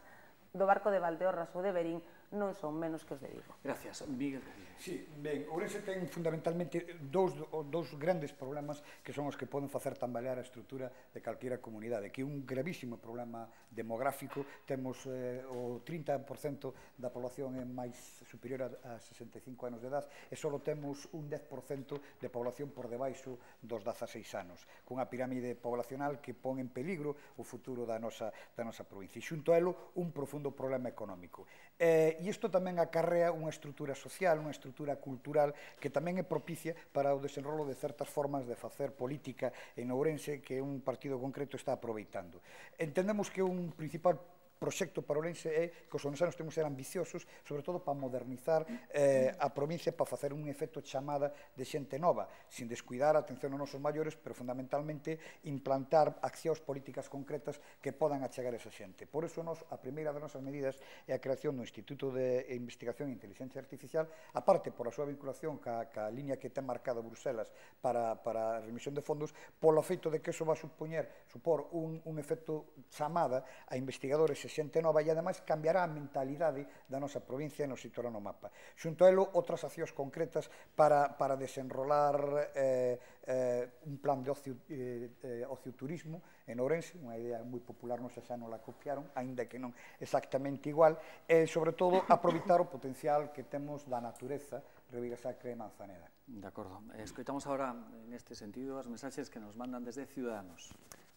do barco de Valdeorras ou de Verín non son menos que os de Vigo. Gracias. Miguel. Sí, ben, Ourense ten fundamentalmente dous, dous grandes problemas que son os que poden facer tambalear a estrutura de calquera comunidade, que é un gravísimo problema demográfico. Temos eh, o trinta por cento da población é máis superior a, a sesenta e cinco anos de edad e só temos un dez por cento de población por debaixo dos dezaseis anos, cunha pirámide poblacional que pon en peligro o futuro da nosa, da nosa provincia. E xunto a elo, un profundo problema económico. Eh, e isto tamén acarrea unha estrutura social, unha estrutura cultural que tamén é propicia para o desenrolo de certas formas de facer política en Ourense que un partido concreto está aproveitando. Entendemos que un principal proxecto para Ourense é que os ourensanos temos que ser ambiciosos, sobre todo para modernizar eh, a provincia, para facer un efecto chamada de xente nova, sin descuidar a atención aos nosos maiores, pero fundamentalmente implantar accións políticas concretas que podan achegar esa xente. Por iso, nos, a primeira das nosas medidas é a creación do Instituto de Investigación e Inteligencia Artificial, aparte por a súa vinculación ca, ca liña que ten marcado Bruselas para, para a remisión de fondos, polo feito de que eso va a supoñer, supor un, un efecto chamada a investigadores e xente nova e, ademais, cambiará a mentalidade da nosa provincia e nos situará no mapa. Xunto a elo, outras accións concretas para, para desenrolar eh, eh, un plan de ocio, eh, eh, ocioturismo en Ourense, unha idea moi popular, non sei xa non la copiaron, aínda que non exactamente igual, e, sobre todo, aproveitar o potencial que temos da natureza, Ribeira Sacra e Manzaneda. De acordo. Escoitamos agora, neste sentido, as mensaxes que nos mandan desde Ciudadanos.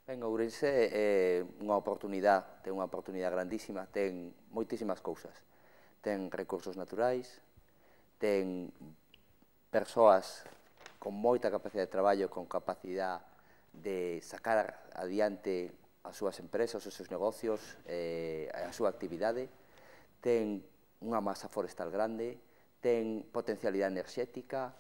Ben, Ourense é unha oportunidade, ten unha oportunidade grandísima, ten moitísimas cousas. Ten recursos naturais, ten persoas con moita capacidade de traballo, con capacidade de sacar adiante as súas empresas, os seus negocios, eh, a súa actividade. ten unha masa forestal grande, ten potencialidade enerxética,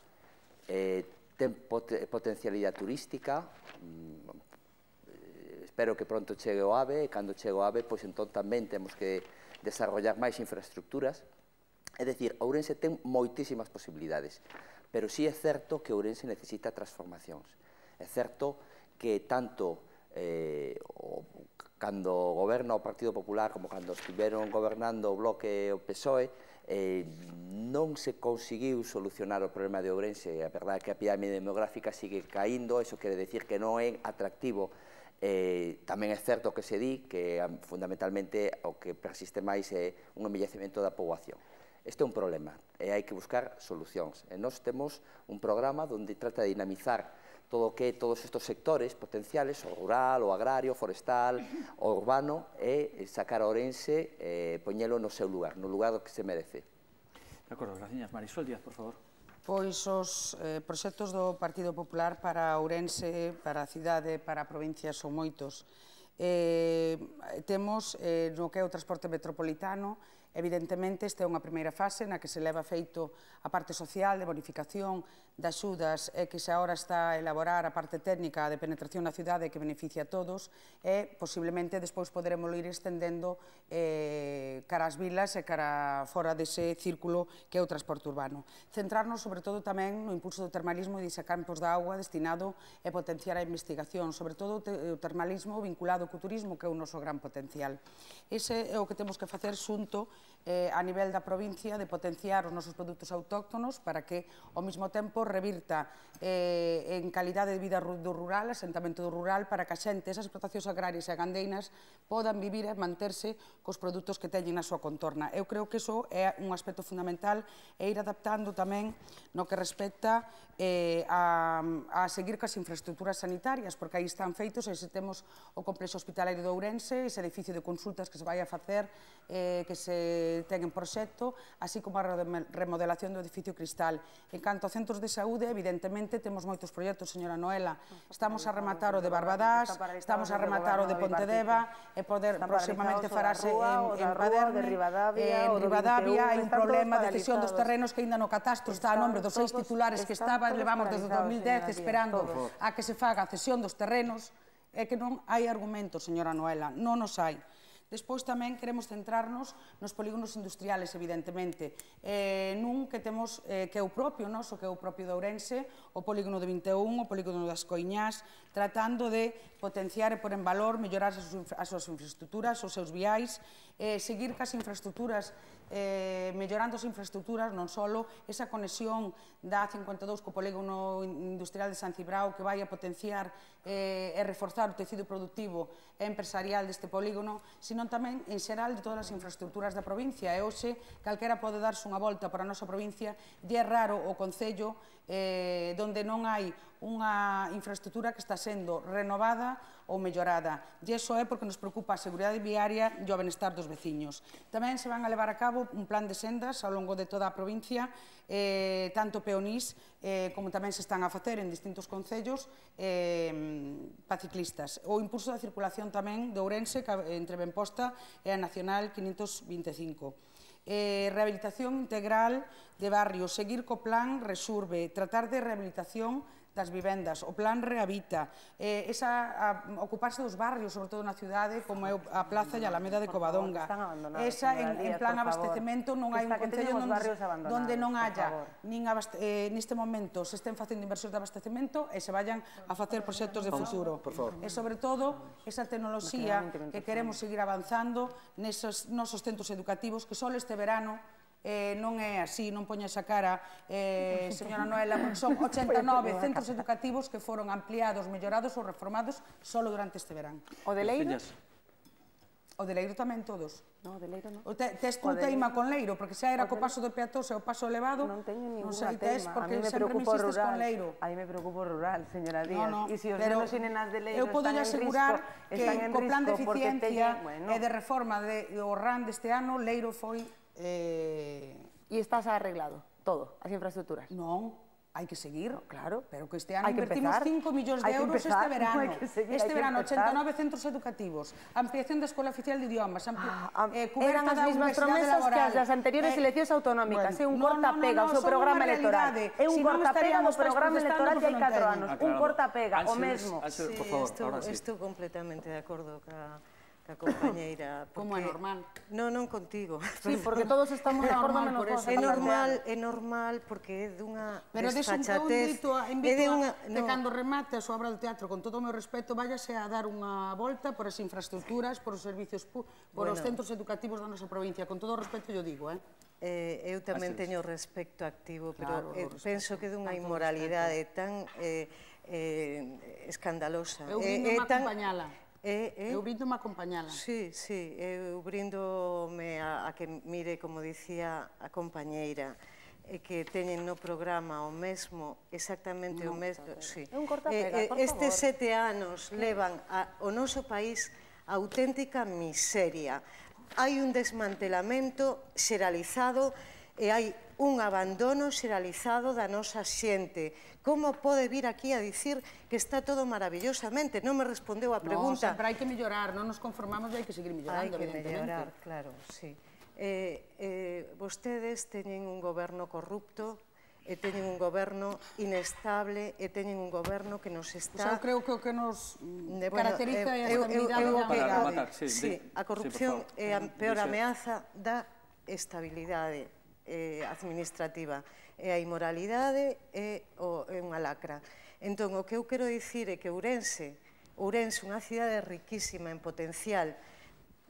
eh, ten pot potencialidade turística, mm, espero que pronto chegue o AVE, e cando chegue o AVE, pois entón tamén temos que desarrollar máis infraestructuras. É dicir, Ourense ten moitísimas posibilidades, pero sí é certo que Ourense necesita transformacións. É certo que tanto eh, o, cando goberna o Partido Popular como cando estiveron gobernando o Bloque e o P S O E, eh, non se conseguiu solucionar o problema de Ourense. A verdade é que a pirámide demográfica sigue caíndo, iso quere decir que non é atractivo. Eh, tamén é certo que se di que fundamentalmente o que persiste máis é un envellecemento da poboación. Este é un problema e hai que buscar solucións. E nós temos un programa onde trata de dinamizar todo o que todos estes sectores potenciales, o rural, o agrario, o forestal, o urbano, e sacar a Ourense e poñelo no seu lugar, no lugar que se merece. De acordo, gracias. Marisol Díaz, por favor. Pois os eh, proxectos do Partido Popular para Ourense, para a cidade, para a provincia son moitos. Eh, temos eh, no que é o transporte metropolitano. Evidentemente, esta é unha primeira fase na que se leva feito a parte social de bonificación de axudas e que se agora está a elaborar a parte técnica de penetración na cidade que beneficia a todos e posiblemente despois poderemos ir estendendo eh, cara ás vilas e cara fora dese círculo que é o transporte urbano. Centrarnos sobre todo tamén no impulso do termalismo e de campos de auga destinado a potenciar a investigación, sobre todo o termalismo vinculado co turismo que é o noso gran potencial. Ese é o que temos que facer xunto eh, a nivel da provincia de potenciar os nosos produtos autóctonos para que ao mesmo tempo revirta eh, en calidade de vida do rural, asentamento do rural, para que a xente, esas explotacións agrarias e gandeinas podan vivir e manterse cos produtos que teñen na súa contorna. Eu creo que iso é un aspecto fundamental e ir adaptando tamén no que respecta eh, a, a seguir cas infraestructuras sanitarias, porque aí están feitos, e se temos o complexo hospitalario de Ourense, ese edificio de consultas que se vai a facer, eh, que se ten en proxecto, así como a remodelación do edificio Cristal. En canto a centros de saúde, evidentemente, temos moitos proxectos, señora Noela. Estamos a rematar o de Barbadás, estamos a rematar o de Pontedeva, e poder próximamente farase en Paderne, en Ribadavia. Hai un problema de cesión dos terrenos que ainda no catastro está a nombre dos seis titulares que estaban, levamos desde dos mil dez esperando a que se faga a cesión dos terrenos, e que non hai argumentos, señora Noela, non os hai. Despois tamén queremos centrarnos nos polígonos industriales, evidentemente, eh, nun que temos eh, que é o propio noso, que é o propio de Ourense, o polígono de vinte e un, o polígono das Coiñás, tratando de potenciar e pôr en valor, mellorar as, as súas infraestructuras, os seus viais, eh, seguir cas infraestructuras, eh, mellorando as infraestructuras, non só esa conexión da A cincuenta e dous co polígono industrial de San Cibrao que vai a potenciar eh, e reforzar o tecido productivo e empresarial deste polígono, sino tamén en xeral de todas as infraestructuras da provincia. E hoxe, calquera pode darse unha volta para a nosa provincia, e é raro o concello eh, donde non hai unha infraestructura que está sendo renovada ou mellorada. E iso é porque nos preocupa a seguridade viaria e o benestar dos veciños. Tamén se van a levar a cabo un plan de sendas ao longo de toda a provincia, eh, tanto peonís eh, como tamén se están a facer en distintos concellos eh, para ciclistas. O impulso da circulación tamén de Ourense, entre Benposta e a Nacional quinhentos vinte e cinco. Eh, rehabilitación integral de barrios, seguir co plan Resurbe, tratar de rehabilitación das vivendas, o plan Rehabita, eh, esa, a, ocuparse dos barrios, sobre todo na cidade, como é a Plaza e a Alameda de Covadonga. Esa, en, en plan abastecemento, non hai un concello onde non haya, nin abaste, eh, neste momento, se estén facendo inversións de abastecemento e se vayan a facer proxectos de futuro. E, sobre todo, esa tecnoloxía que queremos seguir avanzando nesos nosos centros educativos, que só este verano Eh, non é así, non poña esa cara, eh, señora Noela, porque son ochenta e nove centros educativos que foron ampliados, mellorados ou reformados só durante este verán. O de Leiro? O de Leiro tamén todos. No, o de Leiro non. Tes tú teima con Leiro, porque xa era co paso do peatós e o paso elevado, non teño ninguna teima. Porque sempre me insistes con Leiro. A mí me preocupa o rural, señora Díaz. E se os nenos e nenas de Leiro eu podo asegurar que co plan de eficiencia e de reforma do R A N deste ano, Leiro foi... E estás arreglado todo, as infraestructuras? Non, hai que seguir, claro, pero que este ano hai que invertimos empezar. cinco millóns de Hai que euros empezar, este verano. hai que seguir, Este hai que verano, empezar. ochenta e nove centros educativos, ampliación da Escola Oficial de Idiomas, ampli- Ah, eh, eran cuberta as da mismas Universidade promesas que Laboral. as das anteriores Eh, eleccións autonómicas, é un bueno, corta-pega o seu son programa unha electoral. realidade. É un Si non corta-pega do estaríamos todos programa protestando electoral de hai porque non catro teñen. anos. Un Aclarado. corta-pega, o Ángeles, mesmo. Ángeles, Sí, por favor, estou, ahora sí. estou completamente de acordo ca, ca compañeira. Como é normal. Non, non contigo. Sí, porque todos estamos de acordo normal menos por vos. eso. É estamos normal, planteando. é normal porque é dunha Pero des un, eu desfachatez. invito, a, é invito de a, unha, que no, cando remate a súa obra de teatro, con todo o meu respeto, váyase a dar unha volta por as infraestructuras, por os servicios, pu- por os Bueno. centros educativos da nosa provincia. Con todo o respeto, yo digo, eh? Eh, eu tamén Así es. teño respecto activo, Claro, pero eh, o respeto. penso que é dunha Tanto o inmoralidade tan eh, eh, escandalosa. Eu Eh, brindo é a tan- acompañala. É, é, Eu brindo a acompañala. Sí, sí, eu brindome a, a que mire, como dicía a compañeira, e que teñen no programa o mesmo, exactamente o mesmo, sí. É un corta-pega, Eh, eh, por Estes favor. sete anos levan a, o noso país a auténtica miseria. Hai un desmantelamento xeralizado e hai un abandono xeralizado da nosa xente. Como pode vir aquí a dicir que está todo maravillosamente? Non me respondeu a No, pregunta. sempre hai que mellorar, non nos conformamos e hai que seguir Hai mellorando, que evidentemente. mellorar, claro, sí. Eh, eh, vostedes teñen un goberno corrupto, e teñen un goberno inestable, e teñen un goberno que nos Pois está... eu creo que o que nos mm, Eh, bueno, caracteriza é a eu- eu- estabilidade eu- da eu- Para unidade. rematar, sí, Sí, di- a corrupción sí, por favor. é a peor Dice- ameaza da estabilidade eh, administrativa. E a inmoralidade é, o, é unha lacra. Entón, o que eu quero dicir é que Ourense, Ourense, unha cidade riquísima en potencial,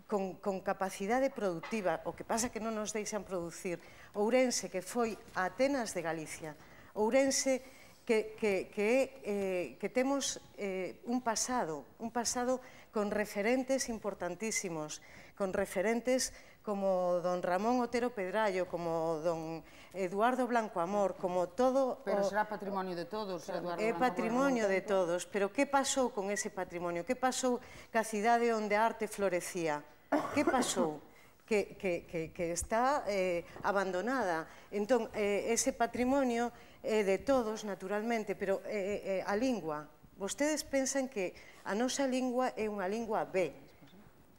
con, con capacidade productiva, o que pasa que non nos deixan producir. Ourense, que foi a Atenas de Galicia. Ourense, que, que, que, eh, que temos eh, un pasado, un pasado con referentes importantísimos, con referentes como don Ramón Otero Pedrallo, como don Eduardo Blanco Amor, como todo... Pero o- será patrimonio de todos, Eduardo. É Blanco, patrimonio por de todos, pero que pasou con ese patrimonio? Que pasou ca cidade onde a arte florecía? Que pasou? Que, que, que, que está eh, abandonada. Entón, eh, ese patrimonio é de todos, naturalmente, pero eh, eh, a lingua, vostedes pensan que a nosa lingua é unha lingua B,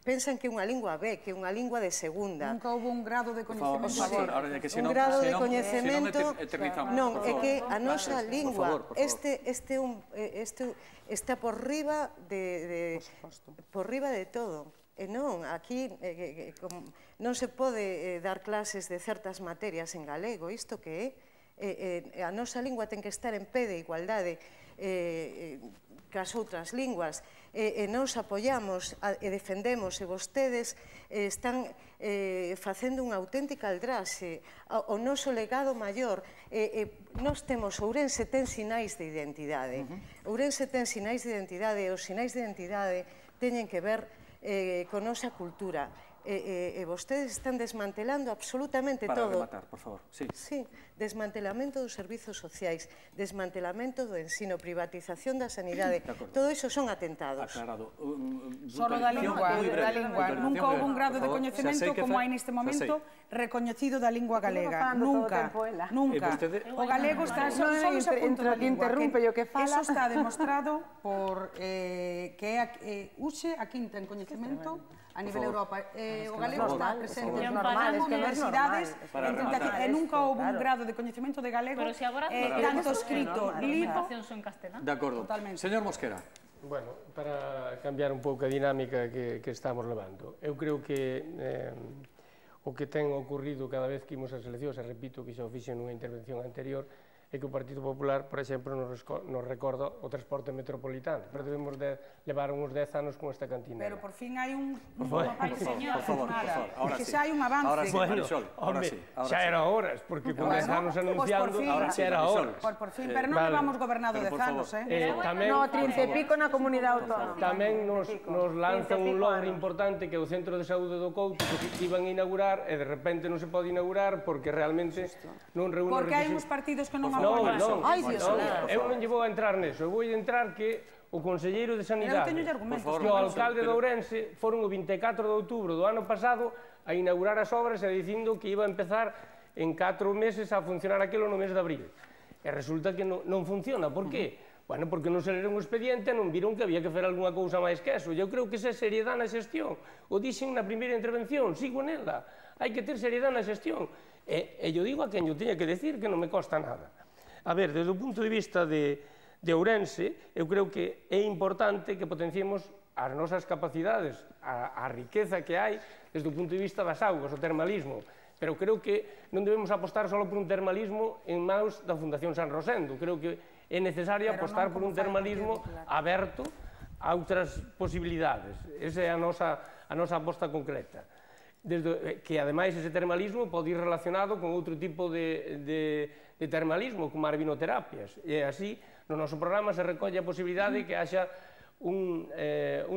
pensan que é unha lingua B, que é unha lingua de segunda. Nunca houve un grado de Por favor, por coñecemento. favor, ahora de que Un senón, grado de senón- coñecemento, senón ete- eternizamos, non, por é favor. que a nosa Por lingua, favor, por favor. este este un eh, este está por riba de, de por riba de todo. E non, aquí eh, eh, como, non se pode eh, dar clases de certas materias en galego, isto que é? Eh, eh, a nosa lingua ten que estar en pé de igualdade eh, eh, cas outras linguas, e, e nos apoiamos a, e defendemos, e vostedes eh, están eh, facendo unha auténtica aldraxe. O, o noso legado maior, eh, eh, nós temos, Ourense ten sinais de identidade, uh-huh. Ourense ten sinais de identidade, e os sinais de identidade teñen que ver eh, con nosa cultura, e, e, e vostedes están desmantelando absolutamente Para todo. rematar, por favor. Sí. Sí, desmantelamento dos servizos sociais, desmantelamento do ensino, privatización da sanidade, todo iso son atentados. Aclarado. Um, um, Solo da puntualización lingua, moi breve, da lingua. puntualización Nunca houve un breve, grado por de favor. coñecemento Xa sei que como fa- hai neste xa momento sei. recoñecido da lingua galega. falando todo o Nunca, tempo ela. nunca. E vostede- O galego está No, só no, só ese inter- punto da inter- lingua. interrumpe o que fala. Eso está demostrado por eh, que é a- eh, Uxe a quinta en coñecemento a nivel Europa. Eh, o galego por está favor, presente por en favor. normal, es que non é universidades, normal. Para en tentativa- rematar. e nunca houve un Claro. grado de coñecemento de galego Pero si agora eh, Para tanto rematar. escrito, As lido, presentacións son en castelán. De acordo. Totalmente. Señor Mosquera. Bueno, para cambiar un pouco a dinámica que, que estamos levando, eu creo que eh, o que ten ocurrido cada vez que imos ás eleccións, e repito que xa o fixen nunha intervención anterior, é que o Partido Popular, por exemplo, nos, nos recorda o transporte metropolitano, pero debemos de levar uns dez anos con esta cantina. pero por fin hai un un favor, ai, por favor, señor, por favor, por nada. favor, ahora que sí. xa hai un avance. Ahora sí. Bueno, Marisol, ahora home, sí, ahora xa sí. era horas, porque con Bueno, dez anos pues por anunciando, fin. ahora xa era Marisol. horas. Por, por fin, pero non Vale. levamos gobernado Pero, dez por favor. anos, eh? Eh, tamén, No, trinta e pico na comunidade autónoma. tamén nos, nos lanzan un logro anos. importante que é o Centro de Saúde do Couto, que iban a inaugurar e de repente non se pode inaugurar porque realmente non reúne os Porque hai uns requisitos. partidos que non Non, apoian. non, Ai, Dios non, mío, por eu non lle vou a entrar neso, eu vou a entrar que o conselleiro de Sanidade teño argumentos, Por favor, e o Marisol, alcalde de pero- Ourense foron o vinte e catro de outubro do ano pasado a inaugurar as obras e dicindo que iba a empezar en catro meses a funcionar aquilo no mes de abril. E resulta que non funciona. Por que? Bueno, porque non se leron o expediente e non viron que había que facer algunha cousa máis que eso. Eu creo que esa é seriedade na xestión. O dixen na primeira intervención, sigo nela. Hai que ter seriedade na xestión. E eu digo a quen eu teña que decir que non me costa nada. A ver, desde o punto de vista de Ourense, eu creo que é importante que potenciemos as nosas capacidades, a riqueza que hai desde o punto de vista das augas, o termalismo. Pero creo que non debemos apostar só por un termalismo en maus da Fundación San Rosendo. Creo que é necesario apostar por un termalismo aberto a outras posibilidades. Esa é a nosa aposta concreta. Que, ademais, ese termalismo pode ir relacionado con outro tipo de termalismo, como as vinoterapias. E así, no noso programa se recolle a posibilidade de que haxa un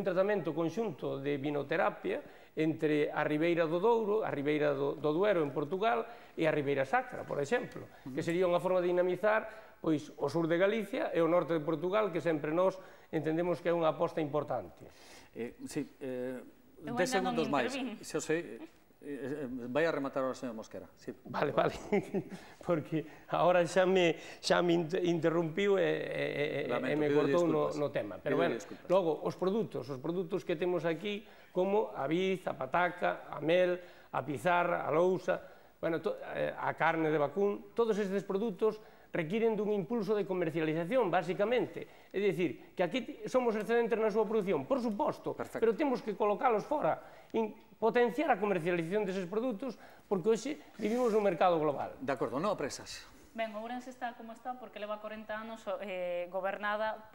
tratamento conxunto de vinoterapia entre a Ribeira do Douro, a Ribeira do Duero en Portugal e a Ribeira Sacra, por exemplo, que sería unha forma de dinamizar pois o sur de Galicia e o norte de Portugal, que sempre nós entendemos que é unha aposta importante. Sí, dez segundos máis. Se o sei, vai a rematar ahora, señor Mosquera. Vale, vale, porque agora xa me interrumpiu e me cortou no tema. Pero, bueno, logo, os produtos, os produtos que temos aquí, como a vid, a pataca, a mel, a pizarra, a lousa, a carne de vacún, todos estes produtos requiren dun impulso de comercialización, basicamente. É dicir, que aquí somos excedentes na súa produción, por suposto, pero temos que colocalos fora, potenciar a comercialización deses produtos, porque hoxe vivimos nun mercado global. De acordo, non presas. Ben, Ourense está como está porque leva corenta anos gobernada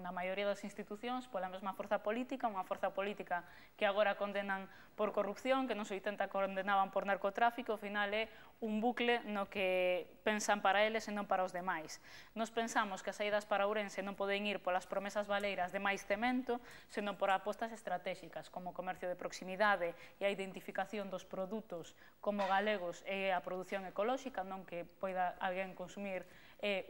na maioría das institucións pola mesma forza política, unha forza política que agora condenan por corrupción, que nos oitenta condenaban por narcotráfico, ao final é un bucle no que pensan para eles e non para os demais. Nos pensamos que as saídas para Ourense non poden ir polas promesas valeiras de máis cemento, senón por apostas estratégicas, como o comercio de proximidade e a identificación dos produtos como galegos e a produción ecolóxica, non que poida alguén consumir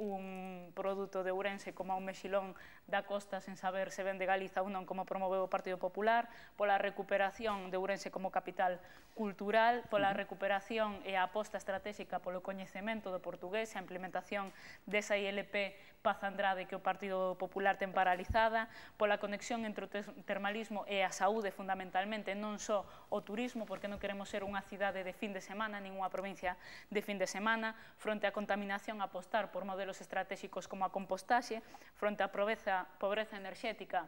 un produto de Ourense como un mexilón da costa sen saber se ven de Galiza ou non, como promoveu o Partido Popular, pola recuperación de Ourense como capital cultural, pola recuperación e a aposta estratégica polo coñecemento do portugués, a implementación desa I L P Paz Andrade que o Partido Popular ten paralizada, pola conexión entre o termalismo e a saúde fundamentalmente, non só o turismo, porque non queremos ser unha cidade de fin de semana, nin unha provincia de fin de semana, fronte á contaminación apostar por modelos estratégicos como a compostaxe, fronte á pobreza enerxética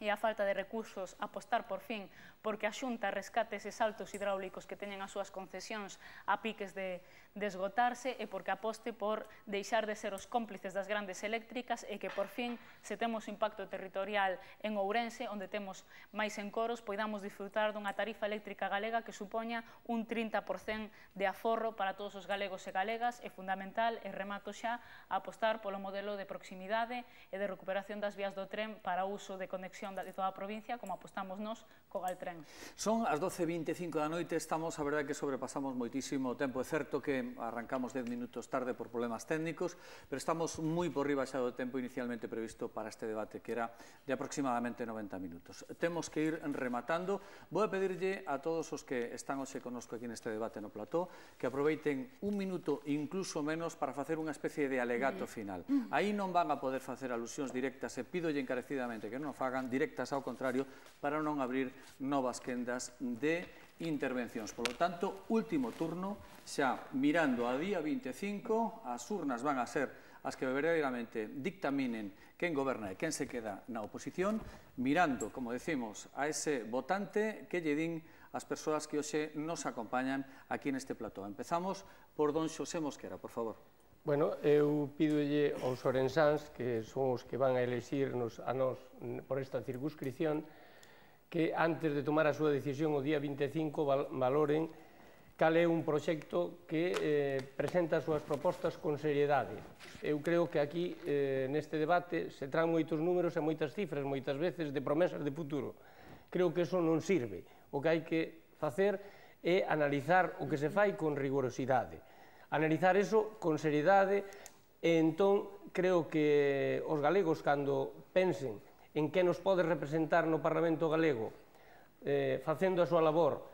e a falta de recursos, apostar por fin porque a Xunta rescate eses saltos hidráulicos que teñen as súas concesións a piques de esgotarse e porque aposte por deixar de ser os cómplices das grandes eléctricas e que por fin, se temos impacto territorial en Ourense, onde temos máis encoros, poidamos disfrutar dunha tarifa eléctrica galega que supoña un trinta por cento de aforro para todos os galegos e galegas. É fundamental, e remato xa, apostar polo modelo de proximidade e de recuperación das vías do tren para o uso de conexión de toda a provincia, como apostamos nós co Galtren. Son as doce e vinte e cinco da noite, estamos, a verdade, que sobrepasamos moitísimo o tempo. É certo que arrancamos dez minutos tarde por problemas técnicos, pero estamos moi por riba xa do tempo inicialmente previsto para este debate, que era de aproximadamente noventa minutos. Temos que ir rematando. Vou a pedirlle a todos os que están hoxe connosco aquí neste debate no plató que aproveiten un minuto, incluso menos, para facer unha especie de alegato final. Aí non van a poder facer alusións directas e pídolle encarecidamente que non o fagan directas, ao contrario, para non abrir novas quendas de intervencións. Por lo tanto, último turno, xa mirando a día vinte e cinco, as urnas van a ser as que verdadeiramente dictaminen quen goberna e quen se queda na oposición, mirando, como decimos, a ese votante que lle din as persoas que hoxe nos acompañan aquí neste plató. Empezamos por don Xosé Mosquera, por favor. Bueno, eu pídolle aos orensáns, que son os que van a elexirnos a nós por esta circunscripción, que antes de tomar a súa decisión o día vinte e cinco valoren cal é un proxecto que presenta as súas propostas con seriedade. Eu creo que aquí, neste debate, se traen moitos números e moitas cifras, moitas veces, de promesas de futuro. Creo que eso non sirve. O que hai que facer é analizar o que se fai con rigorosidade. Analizar eso con seriedade e entón creo que os galegos, cando pensen en que nos pode representar no Parlamento galego facendo a súa labor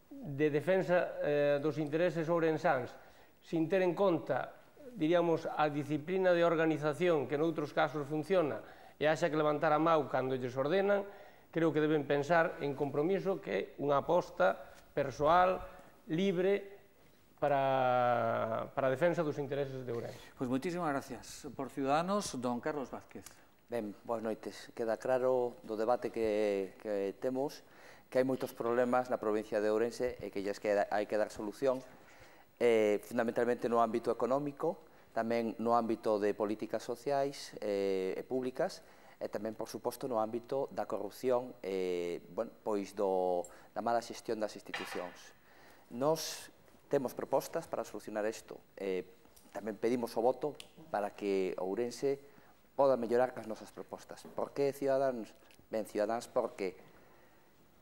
de defensa dos intereses ourensáns sin ter en conta diríamos, a disciplina de organización que noutros casos funciona e haxa que levantar a mau cando lles ordenan, creo que deben pensar en compromiso que é unha aposta persoal, libre, para, para a defensa dos intereses de Ourense. Pois moitísimas gracias. Por Ciudadanos, don Carlos Vázquez. Ben, boas noites. Queda claro do debate que, que temos que hai moitos problemas na provincia de Ourense e que lles queda, hai que dar solución, eh, fundamentalmente no ámbito económico, tamén no ámbito de políticas sociais eh, e públicas, e tamén, por suposto, no ámbito da corrupción e, bueno, pois do, da mala xestión das institucións. Nos temos propostas para solucionar isto. Eh, tamén pedimos o voto para que Ourense poda mellorar as nosas propostas. Por que Ciudadanos? Ben, Ciudadanos porque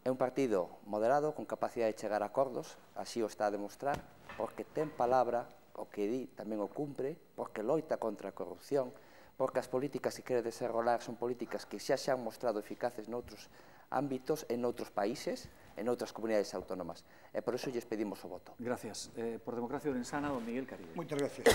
é un partido moderado, con capacidade de chegar a acordos, así o está a demostrar, porque ten palabra, o que di tamén o cumpre, porque loita contra a corrupción, porque as políticas que quere desenrolar son políticas que xa se han mostrado eficaces noutros ámbitos, en outros países, en outras comunidades autónomas. E por iso lles pedimos o voto. Gracias. Eh, por Democracia Ourensana, don Miguel Caribe. Moitas gracias.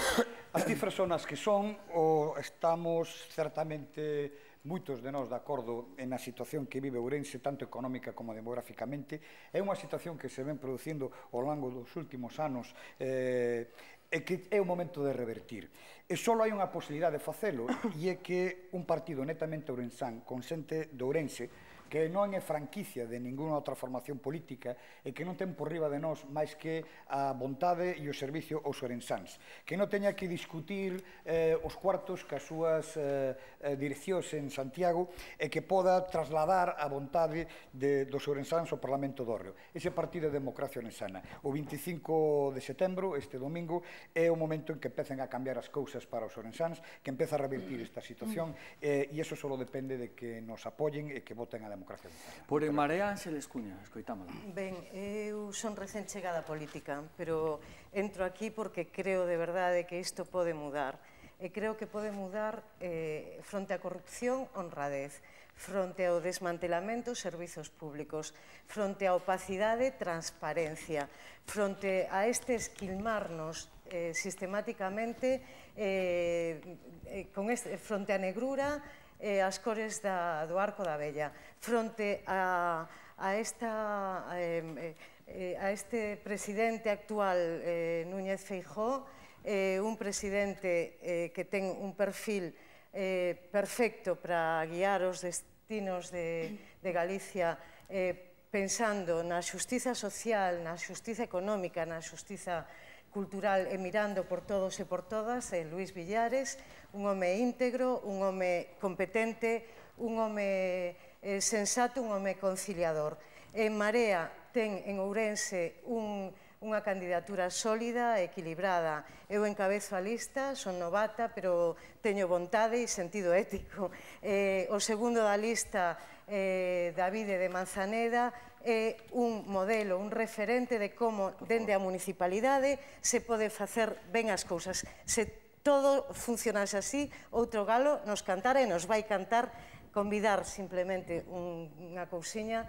As cifras son as que son, o estamos certamente moitos de nós de acordo en a situación que vive Ourense, tanto económica como demográficamente. É unha situación que se ven producindo ao longo dos últimos anos eh, e que é o momento de revertir. E só hai unha posibilidade de facelo, e é que un partido netamente ourensán, con xente de Ourense, que non é franquicia de ninguna outra formación política e que non ten por riba de nós máis que a vontade e o servicio aos ourensáns, que non teña que discutir eh, os cuartos que as súas eh, direccións en Santiago e que poda trasladar a vontade de, dos ourensáns ao Parlamento do Hórreo. Ese partido de Democracia Ourensana. O vinte e cinco de setembro, este domingo, é o momento en que empecen a cambiar as cousas para os ourensáns, que empeza a revertir esta situación eh, e iso só depende de que nos apoyen e que voten a Democracia Ourensana. Por En Marea, Ángeles Cuña, escoitámola. Ben, eu son recén chegada á política, pero entro aquí porque creo de verdade que isto pode mudar. E creo que pode mudar eh, fronte á corrupción, honradez, fronte ao desmantelamento dos servizos públicos, fronte á opacidade, transparencia, fronte a este esquilmarnos eh, sistemáticamente eh, eh, con este, fronte á negrura, eh, as cores da, do arco da vella, fronte a, a, esta, eh, eh, a este presidente actual, eh, Núñez Feijóo, eh, un presidente eh, que ten un perfil eh, perfecto para guiar os destinos de, de Galicia, eh, pensando na xustiza social, na xustiza económica, na xustiza cultural e mirando por todos e por todas, eh, Luís Villares, un home íntegro, un home competente, un home eh, sensato, un home conciliador. En Marea ten en Ourense un, unha candidatura sólida, equilibrada. Eu encabezo a lista, son novata, pero teño vontade e sentido ético. Eh, o segundo da lista, eh, Davide de Manzaneda, é un modelo, un referente de como, dende a municipalidade, se pode facer ben as cousas. Se todo funcionase así, outro galo nos cantara e nos vai cantar. Convidar simplemente unha cousiña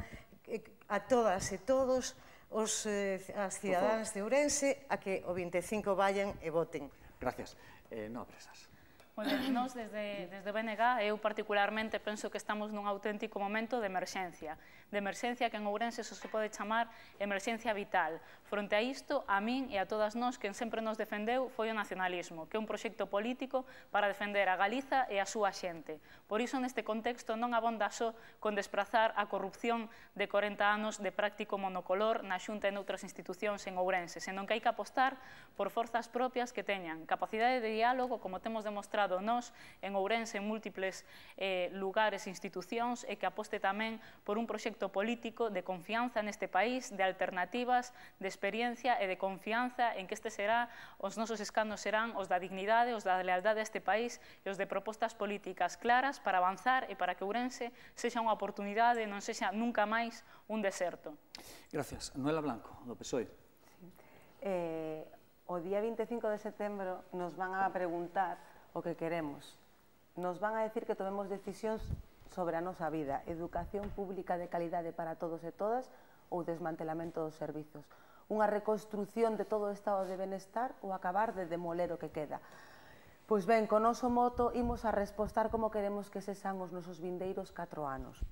a todas e todos os, eh, as cidadáns de Ourense a que o vinte e cinco vayan e voten. Gracias. Eh, no apresas. Bueno, nós desde, desde B N G, eu particularmente penso que estamos nun auténtico momento de emerxencia. De emerxencia que en Ourense só se pode chamar emerxencia vital. Fronte a isto, a min e a todas nós, quen sempre nos defendeu foi o nacionalismo, que é un proxecto político para defender a Galiza e a súa xente. Por iso, neste contexto, non abonda só con desprazar a corrupción de corenta anos de práctico monocolor na Xunta e noutras institucións en Ourense, senón que hai que apostar por forzas propias que teñan capacidade de diálogo, como temos demostrado nós en Ourense en múltiples eh, lugares e institucións, e que aposte tamén por un proxecto político de confianza neste país, de alternativas, de experiencia e de confianza en que este será, os nosos escanos serán os da dignidade, os da lealdade a este país e os de propostas políticas claras para avanzar e para que Ourense sexa unha oportunidade, non sexa nunca máis un deserto. Gracias. Noela Blanco, do P S O E. Eh, o día vinte e cinco de setembro nos van a preguntar o que queremos. Nos van a decir que tomemos decisións sobre a nosa vida, educación pública de calidade para todos e todas ou desmantelamento dos servizos, unha reconstrucción de todo o estado de benestar ou acabar de demoler o que queda. Pois ben, con noso moto imos a respostar como queremos que sexan os nosos vindeiros catro anos.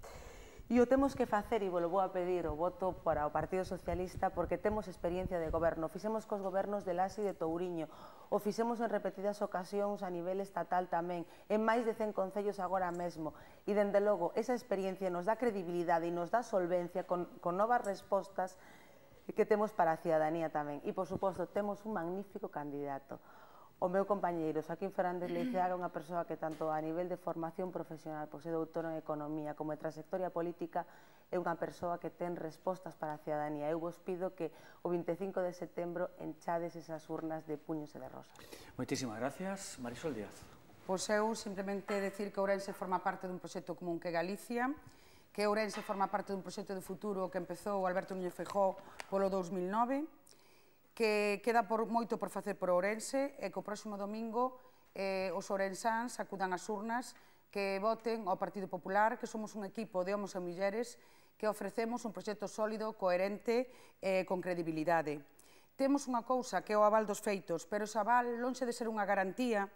E o temos que facer, e vos vou a pedir o voto para o Partido Socialista, porque temos experiencia de goberno. Fixemos cos gobernos de Laxe e de Touriño, o fixemos en repetidas ocasións a nivel estatal tamén, en máis de cen concellos agora mesmo. E, dende logo, esa experiencia nos dá credibilidade e nos dá solvencia con, con novas respostas que temos para a ciudadanía tamén. E, por suposto, temos un magnífico candidato. O meu compañeiro, Joaquín Fernández Leiceaga, é unha persoa que tanto a nivel de formación profesional, pois é doutor en Economía, como en trayectoria política, é unha persoa que ten respostas para a ciudadanía. Eu vos pido que o vinte e cinco de setembro enchades esas urnas de puños e de rosas. Moitísimas gracias. Marisol Díaz. Pois eu simplemente decir que Ourense forma parte dun proxecto común que Galicia, que Ourense forma parte dun proxecto de futuro que empezou Alberto Núñez Feijóo polo dous mil nove, que queda por, moito por facer por Ourense e que o próximo domingo eh, os ourensáns acudan ás urnas que voten ao Partido Popular, que somos un equipo de homos e mulleres que ofrecemos un proxecto sólido, coherente e eh, con credibilidade. Temos unha cousa que é o aval dos feitos, pero ese aval, lonxe de ser unha garantía,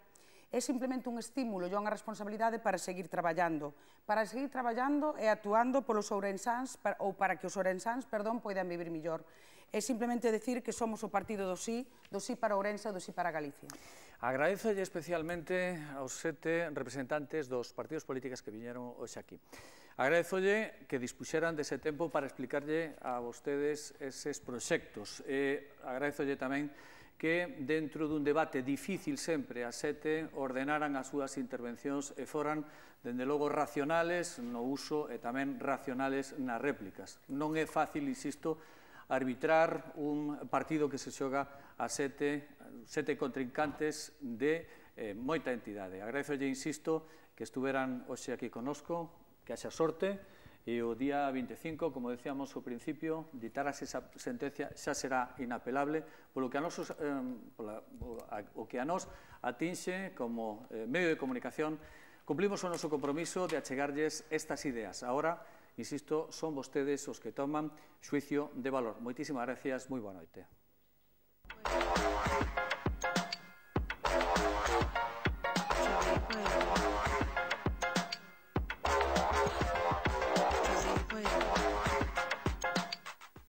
é simplemente un estímulo e unha responsabilidade para seguir traballando. Para seguir traballando e actuando polos ourensáns, ou para que os ourensáns, perdón, poidan vivir millor. É simplemente decir que somos o partido do sí, do sí para Ourense e do sí para Galicia. Agradezolle especialmente aos sete representantes dos partidos políticos que viñeron hoxe aquí. Agradezolle que dispuxeran dese tempo para explicarlle a vostedes eses proxectos. E agradezolle tamén que dentro dun debate difícil sempre a sete ordenaran as súas intervencións e foran, dende logo, racionales no uso e tamén racionales nas réplicas. Non é fácil, insisto, arbitrar un partido que se xoga a sete, sete contrincantes de eh, moita entidade. Agradezolle, insisto, que estuveran hoxe aquí conosco, que haxa sorte, e o día vinte e cinco, como decíamos ao principio, ditarase esa sentencia, xa será inapelable, polo que a nosos, eh, pola, o que a nos atinxe como eh, medio de comunicación. Cumplimos o noso compromiso de achegarlles estas ideas. Ahora, insisto, son vostedes os que toman xuicio de valor. Moitísimas gracias, moi boa noite.